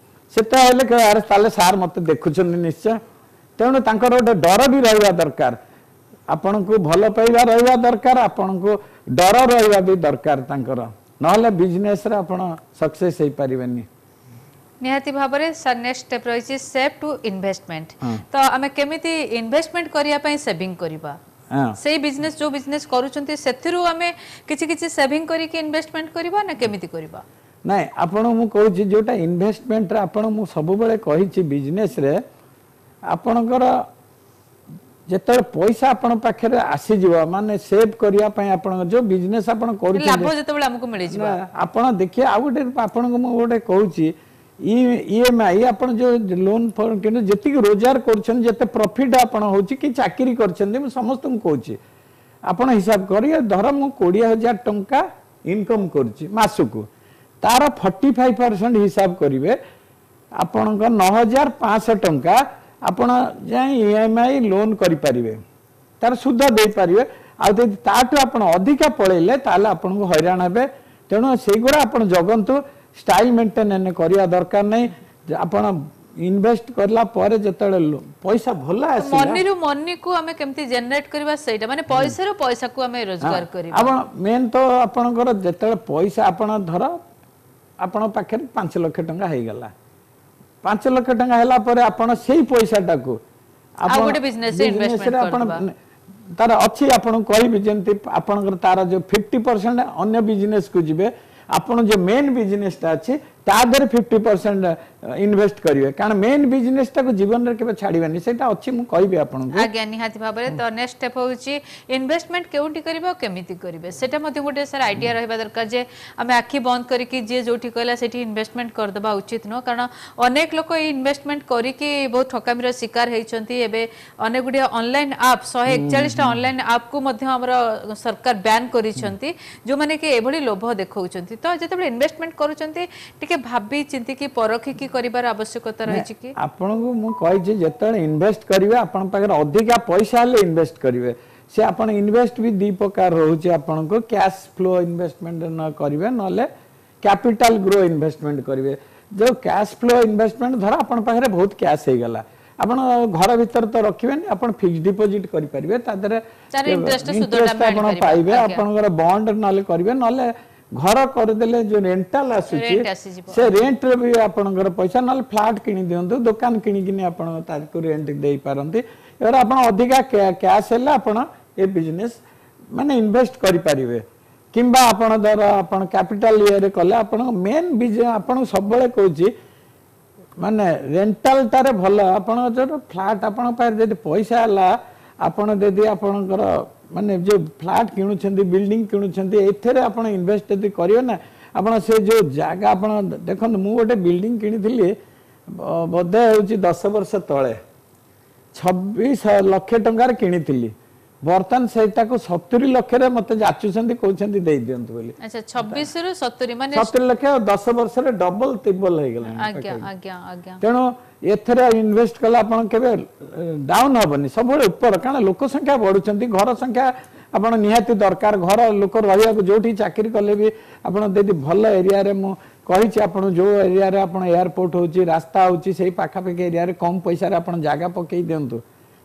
ସେଟା ହେଲେ କହିବେ, ଆରେ ତାହେଲେ ସାର୍ ମତେ ଦେଖୁଛନ୍ତି ନିଶ୍ଚୟ ତେଣୁ ତାଙ୍କର ଗୋଟେ ଡର ବି ରହିବା ଦରକାର ଆପଣଙ୍କୁ ଭଲ ପାଇବା ରହିବା ଦରକାର ଆପଣଙ୍କୁ ଡର ରହିବା ବି ଦରକାର ତାଙ୍କର ନହେଲେ ବିଜନେସରେ ଆପଣ ସକ୍ସେସ୍ ହେଇପାରିବେନି ନିହାତି ଭାବରେ ସାର୍ ନେକ୍ସଟ ଷ୍ଟେପ୍ ରହିଛି ସେଭ୍ ଟୁ ଇନଭେଷ୍ଟମେଣ୍ଟ ତ ଆମେ କେମିତି ଇନଭେଷ୍ଟମେଣ୍ଟ କରିବା ପାଇଁ ସେଭିଂ କରିବା ହଁ ସେଇ ବିଜନେସ୍ ଯୋଉ ବିଜନେସ୍ କରୁଛନ୍ତି ସେଥିରୁ ଆମେ କିଛି କିଛି ସେଭିଂ କରିକି ଇନଭେଷ୍ଟମେଣ୍ଟ କରିବା ନା କେମିତି କରିବା ନାଇଁ ଆପଣ ମୁଁ କହୁଛି ଯୋଉଟା ଇନଭେଷ୍ଟମେଣ୍ଟରେ ଆପଣ ମୁଁ ସବୁବେଳେ କହିଛି ବିଜନେସରେ ଆପଣଙ୍କର ଯେତେବେଳେ ପଇସା ଆପଣ ପାଖରେ ଆସିଯିବ ମାନେ ସେଭ୍ କରିବା ପାଇଁ ଆପଣଙ୍କ ଯୋଉ ବିଜନେସ୍ ଆପଣ କରୁଛନ୍ତି ଲାଭ ଯେତେବେଳେ ଆମକୁ ମିଳିଯିବ ନା, ଆପଣ ଦେଖିବେ ଆଉ ଗୋଟେ ଆପଣଙ୍କୁ ମୁଁ ଗୋଟେ କହୁଛି ଇ ଏମ୍ I ଆପଣ ଯୋଉ ଲୋନ୍ ଫୋନ୍ କିନ୍ତୁ ଯେତିକି ରୋଜଗାର କରୁଛନ୍ତି ଯେତେ ପ୍ରଫିଟ୍ ଆପଣ ହେଉଛି କି ଚାକିରି କରିଛନ୍ତି ମୁଁ ସମସ୍ତଙ୍କୁ କହୁଛି ଆପଣ ହିସାବ କରିବେ ଧର ମୁଁ କୋଡ଼ିଏ ହଜାର ଟଙ୍କା ଇନକମ୍ କରୁଛି ମାସକୁ ତାର ଫର୍ଟି ଫାଇଭ୍ ପରସେଣ୍ଟ ହିସାବ କରିବେ ଆପଣଙ୍କ ନଅ ହଜାର ପାଞ୍ଚଶହ ଟଙ୍କା ଆପଣ ଯାଇ ଇ ଏମ୍ I loan କରିପାରିବେ ତାର ସୁଧ ଦେଇପାରିବେ ଆଉ ଯଦି ତାଠୁ ଆପଣ ଅଧିକା ପଳେଇଲେ ତାହେଲେ ଆପଣଙ୍କୁ ହଇରାଣ ହେବେ ତେଣୁ ସେଇଗୁଡ଼ା ଆପଣ ଜଗନ୍ତୁ ଷ୍ଟାଇଲ ମେଣ୍ଟେନ୍ କରିବା ଦରକାର ନାହିଁ ଯେ ଆପଣ ଇନଭେଷ୍ଟ କଲା ପରେ ଯେତେବେଳେ ଲୋ- ପଇସା ଭଲ ଆସିଲା ମନିରୁ ମନିକୁ ଆମେ କେମିତି ଜେନେରେଟ କରିବା ସେଇଟା ମାନେ ପଇସାରୁ ପଇସାକୁ ଆମେ ରୋଜଗାର କରିବା ଆପଣ ମେନ୍ ତ ଆପଣଙ୍କର ଯେତେବେଳେ ପଇସା ଆପଣ ଧର ଆପଣଙ୍କ ପାଖରେ ପାଞ୍ଚ ଲକ୍ଷ ଟଙ୍କା ହେଇଗଲା ପାଞ୍ଚ ଲକ୍ଷ ଟଙ୍କା ହେଲା ପରେ ଆପଣ ସେଇ ପଇସାଟାକୁ ଆଉ ଗୋଟେ business ରେ investment business ରେ ଆପଣ କରିଦେବା। ତାର ଅଛି ଆପଣଙ୍କୁ କହିବି ଯେମିତି ଆପଣଙ୍କର ତାର ଯୋଉ ଫିଫ୍ଟି ପରସେଣ୍ଟ ଅନ୍ୟ ବିଜନେସକୁ ଯିବେ ଆପଣ ଯୋଉ ମେନ୍ ବିଜନେସଟା ଅଛି ତା ଦେହରେ ଫିଫ୍ଟି ପରସେଣ୍ଟ ଇନଭେଷ୍ଟ କରିବେ କାରଣ ମେନ୍ ବିଜନେସଟାକୁ ଜୀବନରେ କେବେ ଛାଡ଼ିବେନି ସେଇଟା ଅଛି ମୁଁ କହିବି ଆପଣଙ୍କୁ ଆଜ୍ଞା ନିହାତି ଭାବରେ ତ ନେକ୍ସଟ ଷ୍ଟେପ୍ ହେଉଛି ଇନଭେଷ୍ଟମେଣ୍ଟ କେଉଁଠି କରିବେ ଆଉ କେମିତି କରିବେ ସେଟା ମଧ୍ୟ ଗୋଟେ ସାର୍ ଆଇଡିଆ ରହିବା ଦରକାର ଯେ ଆମେ ଆଖି ବନ୍ଦ କରିକି ଯିଏ ଯୋଉଠି କହିଲା ସେଠି ଇନଭେଷ୍ଟମେଣ୍ଟ କରିଦେବା ଉଚିତ ନୁହଁ କାରଣ ଅନେକ ଲୋକ ଏଇ ଇନଭେଷ୍ଟମେଣ୍ଟ କରିକି ବହୁତ ଠକାମିର ଶିକାର ହେଇଛନ୍ତି ଏବେ ଅନେକ ଗୁଡ଼ିଏ ଅନଲାଇନ୍ ଆପ୍ ଶହେ ଏକଚାଳିଶଟା ଅନଲାଇନ୍ ଆପ୍କୁ ମଧ୍ୟ ଆମର ସରକାର ବ୍ୟାନ୍ କରିଛନ୍ତି ଯେଉଁମାନେ କି ଏଭଳି ଲୋଭ ଦେଖାଉଛନ୍ତି ତ ଯେତେବେଳେ ଇନଭେଷ୍ଟମେଣ୍ଟ କରୁଛନ୍ତି ଟିକେ ଭାବି ଚିନ୍ତିକି ପରଖିକି କରିବାର ଆବଶ୍ୟକତା ରହିଛି କି ଆପଣଙ୍କୁ ମୁଁ କହିଛି ଯେତେବେଳେ ଇନଭେଷ୍ଟ କରିବେ ଆପଣଙ୍କ ପାଖରେ ଅଧିକା ପଇସା ହେଲେ ଇନଭେଷ୍ଟ କରିବେ ସେ ଆପଣ ଇନଭେଷ୍ଟ ବି ଦୁଇ ପ୍ରକାର ରହୁଛି ଆପଣଙ୍କୁ କ୍ୟାଶ ଫ୍ଲୋ ଇନଭେଷ୍ଟମେଣ୍ଟ ନ କରିବେ ନହେଲେ କ୍ୟାପିଟାଲ ଗ୍ରୋ ଇନଭେଷ୍ଟମେଣ୍ଟ କରିବେ ଯେଉଁ କ୍ୟାଶ ଫ୍ଲୋ ଇନଭେଷ୍ଟମେଣ୍ଟ ଧର ଆପଣଙ୍କ ପାଖରେ ବହୁତ କ୍ୟାଶ ହେଇଗଲା ଆପଣ ଘର ଭିତରେ ତ ରଖିବେନି ଆପଣ ଫିକ୍ସ ଡିପୋଜିଟ୍ କରିପାରିବେ ତା ଦେହରେ ତାର interest ସୁଧଟା ଇଣ୍ଟରେଷ୍ଟ ଆମେ ଆପଣ ଆଣିପାରିବା। ପାଇବେ ଆଜ୍ଞା। ଆପଣଙ୍କର ବଣ୍ଡ ନହେଲେ କରିବେ ନହେଲେ ଘର କରିଦେଲେ ଯୋଉ ରେଣ୍ଟାଲ ଆସୁଛି Rent ଆସିଯିବ। ସେ ରେଣ୍ଟରେ ବି ଆପଣଙ୍କର ପଇସା ନହେଲେ ଫ୍ଲାଟ୍ କିଣି ଦିଅନ୍ତୁ ଦୋକାନ କିଣିକିନି ଆପଣ ତାକୁ ରେଣ୍ଟ ଦେଇପାରନ୍ତି ଏবার ଆପଣ ଅଧିକା କ୍ୟାଶ ହେଲେ ଆପଣ ଏ ବିଜନେସ୍ ମାନେ ଇନଭେଷ୍ଟ କରିପାରିବେ କିମ୍ବା ଆପଣ ଧର ଆପଣ କ୍ୟାପିଟାଲ ଇଏରେ କଲେ ଆପଣଙ୍କ ମେନ୍ ବିଜନେସ୍ ଆପଣଙ୍କୁ ସବୁବେଳେ କହୁଛି ମାନେ ରେଣ୍ଟାଲଟାରେ ଭଲ ଆପଣ ଯୋଉ ଫ୍ଲାଟ୍ ଆପଣଙ୍କ ପାଖରେ ଯଦି ପଇସା ହେଲା ଆପଣ ଯଦି ଆପଣଙ୍କର ମାନେ ଯୋଉ ଫ୍ଲାଟ୍ କିଣୁଛନ୍ତି ବିଲ୍ଡିଂ କିଣୁଛନ୍ତି ଏଥିରେ ଆପଣ ଇନଭେଷ୍ଟ ଯଦି କରିବେ ନା ଆପଣ ସେ ଯୋଉ ଜାଗା ଆପଣ ଦେଖନ୍ତୁ ମୁଁ ଗୋଟେ ବିଲ୍ଡିଂ କିଣିଥିଲି ବ- ବୋଧେ ହେଉଛି ଦଶ ବର୍ଷ ତଳେ ଛବିଶ ଲକ୍ଷ ଟଙ୍କାରେ କିଣିଥିଲି ବର୍ତ୍ତମାନ ସେଇଟାକୁ ସତୁରି ଲକ୍ଷରେ ମତେ ଯାଚୁଛନ୍ତି କହୁଛନ୍ତି ଦେଇ ଦିଅନ୍ତୁ ବୋଲି ଆଚ୍ଛା ଛବିଶରୁ ସତୁରି ମାନେ ସତୁରି ଲକ୍ଷ ଦଶ ବର୍ଷରେ ଡବଲ ତିବଲ ହେଇଗଲାଣି ଆଜ୍ଞା ଆଜ୍ଞା ଆଜ୍ଞା ତେଣୁ ଏଥିରେ ଇନଭେଷ୍ଟ କଲେ ଆପଣ କେବେ ଡାଉନ୍ ହବନି ସବୁବେଳେ ଉପର କାରଣ ଲୋକ ସଂଖ୍ୟା ବଢୁଛନ୍ତି ଘର ସଂଖ୍ୟା ଆପଣ ନିହାତି ଦରକାର ଘର ଲୋକ ରହିବାକୁ ଯୋଉଠି ଚାକିରି କଲେ ବି ଆପଣ ଯଦି ଭଲ ଏରିଆରେ ମୁଁ କହିଛି ଆପଣ ଯୋଉ ଏରିଆରେ ଆପଣ ଏୟାରପୋର୍ଟ ହଉଛି ରାସ୍ତା ହଉଛି ସେଇ ପାଖାପାଖି ଏରିଆରେ କମ ପଇସାରେ ଆପଣ ଜାଗା ପକେଇ ଦିଅନ୍ତୁ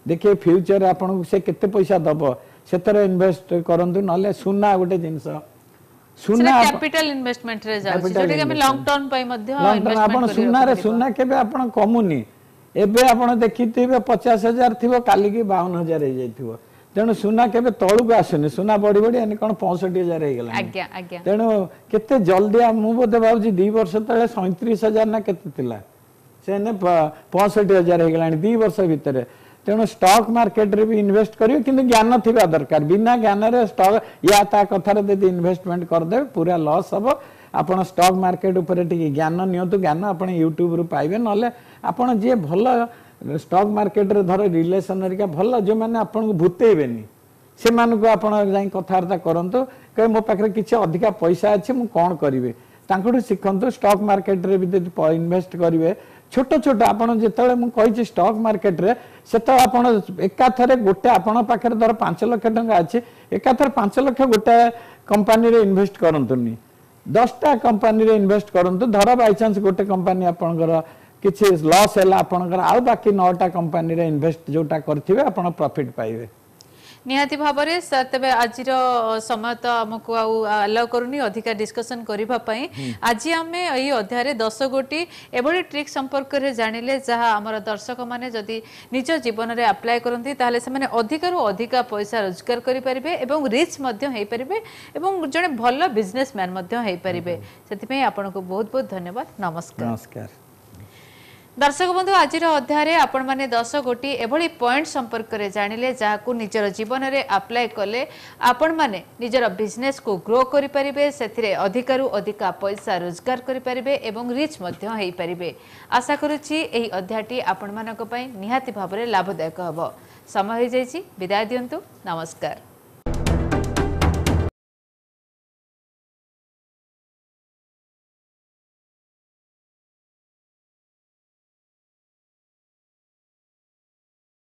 ଦେଖିବେ ଫ୍ୟୁଚର ଆପଣଙ୍କୁ ସେ କେତେ ପଇସା ଦବ ସେଥିରେ ଇନଭେଷ୍ଟ କରନ୍ତୁ ନହେଲେ ସୁନା ଗୋଟେ ଜିନିଷ ସେଟା ସୁନା କ୍ୟାପିଟାଲ ଇନଭେଷ୍ଟମେଣ୍ଟ ରେ ଯାଉଛି Capital ଯୋଉଟା କି ଆମେ ଲଙ୍ଗ ଟର୍ମ ପାଇଁ ମଧ୍ୟ ଲଙ୍ଗ ଟର୍ମ ଆପଣ ଇନଭେଷ୍ଟମେଣ୍ଟ କରି ସୁନାରେ ରଖିପାରିବା ସୁନା କେବେ ଆପଣ କମୁନି ଏବେ ଆପଣ ଦେଖିଥିବେ ପଚାଶ ହଜାର ଥିବ କାଲିକି ବାଉନ ହଜାର ହେଇଯାଇଥିବ ତେଣୁ ସୁନା କେବେ ତଳକୁ ଆସୁନି ସୁନା ବଢି ବଢି ଏନି କଣ ପଞ୍ଚଷଠି ହଜାର ହେଇଗଲାଣି ଆଜ୍ଞା ଆଜ୍ଞା ତେଣୁ କେତେ ଜଲ୍ଦି ଆ- ମୁଁ ବୋଧେ ଭାବୁଛି ଦି ବର୍ଷ ତଳେ ସଇଁତିରିଶ ହଜାର ନା କେତେ ଥିଲା ସେ ଏନେ ପ- ପଞ୍ଚଷଠି ହଜାର ହେଇଗଲାଣି ଦି ବର୍ଷ ଭିତରେ ତେଣୁ ଷ୍ଟକ୍ ମାର୍କେଟରେ ବି ଇନଭେଷ୍ଟ କରିବେ କିନ୍ତୁ ଜ୍ଞାନ ଥିବା ଦରକାର ବିନା ଜ୍ଞାନରେ ଷ୍ଟକ୍ ୟା ତା କଥାରେ ଯଦି ଇନଭେଷ୍ଟମେଣ୍ଟ କରିଦେବେ ପୁରା ଲସ୍ ହବ ଆପଣ ଷ୍ଟକ୍ ମାର୍କେଟ ଉପରେ ଟିକେ ଜ୍ଞାନ ନିଅନ୍ତୁ ଜ୍ଞାନ ଆପଣ ୟୁଟ୍ୟୁବରୁ ପାଇବେ ନହେଲେ ଆପଣ ଯିଏ ଭଲ ଷ୍ଟକ୍ ମାର୍କେଟରେ ଧର ରିଲେସନ ହେରିକା ଭଲ ଯେଉଁମାନେ ଆପଣଙ୍କୁ ଭୂତେଇବେନି ସେମାନଙ୍କୁ ଆପଣ ଯାଇ କଥାବାର୍ତ୍ତା କରନ୍ତୁ କହିବେ ମୋ ପାଖରେ କିଛି ଅଧିକା ପଇସା ଅଛି ମୁଁ କ'ଣ କରିବି ତାଙ୍କଠୁ ଶିଖନ୍ତୁ ଷ୍ଟକ୍ ମାର୍କେଟରେ ବି ଯଦି ଇନଭେଷ୍ଟ କରିବେ ଛୋଟ ଛୋଟ ଆପଣ ଯେତେବେଳେ ମୁଁ କହିଛି ଷ୍ଟକ୍ ମାର୍କେଟରେ ସେତେବେଳେ ଆପଣ ଏକାଥରେ ଗୋଟେ ଆପଣଙ୍କ ପାଖରେ ଧର ପାଞ୍ଚ ଲକ୍ଷ ଟଙ୍କା ଅଛି ଏକାଥରେ ପାଞ୍ଚ ଲକ୍ଷ ଗୋଟେ କମ୍ପାନୀରେ ଇନଭେଷ୍ଟ କରନ୍ତୁନି ଦଶଟା କମ୍ପାନୀରେ ଇନଭେଷ୍ଟ କରନ୍ତୁ ଧର ବାଇଚାନ୍ସ ଗୋଟେ କମ୍ପାନୀ ଆପଣଙ୍କର କିଛି ଲସ୍ ହେଲା ଆପଣଙ୍କର ଆଉ ବାକି ନଅଟା କମ୍ପାନୀରେ ଇନଭେଷ୍ଟ ଯୋଉଟା କରିଥିବେ ଆପଣ ପ୍ରଫିଟ୍ ପାଇବେ ନିହାତି ଭାବରେ ସାର୍ ତେବେ ଆଜିର ସମୟ ତ ଆମକୁ ଆଉ ଆଲାଉ କରୁନି ଅଧିକା ଡିସ୍କସନ୍ କରିବା ପାଇଁ ଆଜି ଆମେ ଏଇ ଅଧ୍ୟାୟରେ ଦଶ ଗୋଟି ଏଭଳି ଟ୍ରିକ୍ ସମ୍ପର୍କରେ ଜାଣିଲେ ଯାହା ଆମର ଦର୍ଶକମାନେ ଯଦି ନିଜ ଜୀବନରେ ଆପ୍ଲାଏ କରନ୍ତି ତାହେଲେ ସେମାନେ ଅଧିକରୁ ଅଧିକା ପଇସା ରୋଜଗାର କରିପାରିବେ ଏବଂ ରିଚ୍ ମଧ୍ୟ ହେଇପାରିବେ ଏବଂ ଜଣେ ଭଲ ବିଜନେସମ୍ୟାନ୍ ମଧ୍ୟ ହେଇପାରିବେ ସେଥିପାଇଁ ଆପଣଙ୍କୁ ବହୁତ ବହୁତ ଧନ୍ୟବାଦ ନମସ୍କାର ନମସ୍କାର ଦର୍ଶକ ବନ୍ଧୁ ଆଜିର ଅଧ୍ୟାୟରେ ଆପଣମାନେ ଦଶ ଗୋଟି ଏଭଳି ପଏଣ୍ଟ ସମ୍ପର୍କରେ ଜାଣିଲେ ଯାହାକୁ ନିଜର ଜୀବନରେ ଆପ୍ଲାଏ କଲେ ଆପଣମାନେ ନିଜର ବିଜନେସକୁ ଗ୍ରୋ କରିପାରିବେ ସେଥିରେ ଅଧିକରୁ ଅଧିକା ପଇସା ରୋଜଗାର କରିପାରିବେ ଏବଂ ରିଚ୍ ମଧ୍ୟ ହେଇପାରିବେ ଆଶା କରୁଛି ଏହି ଅଧ୍ୟାୟଟି ଆପଣମାନଙ୍କ ପାଇଁ ନିହାତି ଭାବରେ ଲାଭଦାୟକ ହେବ ସମୟ ହୋଇଯାଇଛି ବିଦାୟ ଦିଅନ୍ତୁ ନମସ୍କାର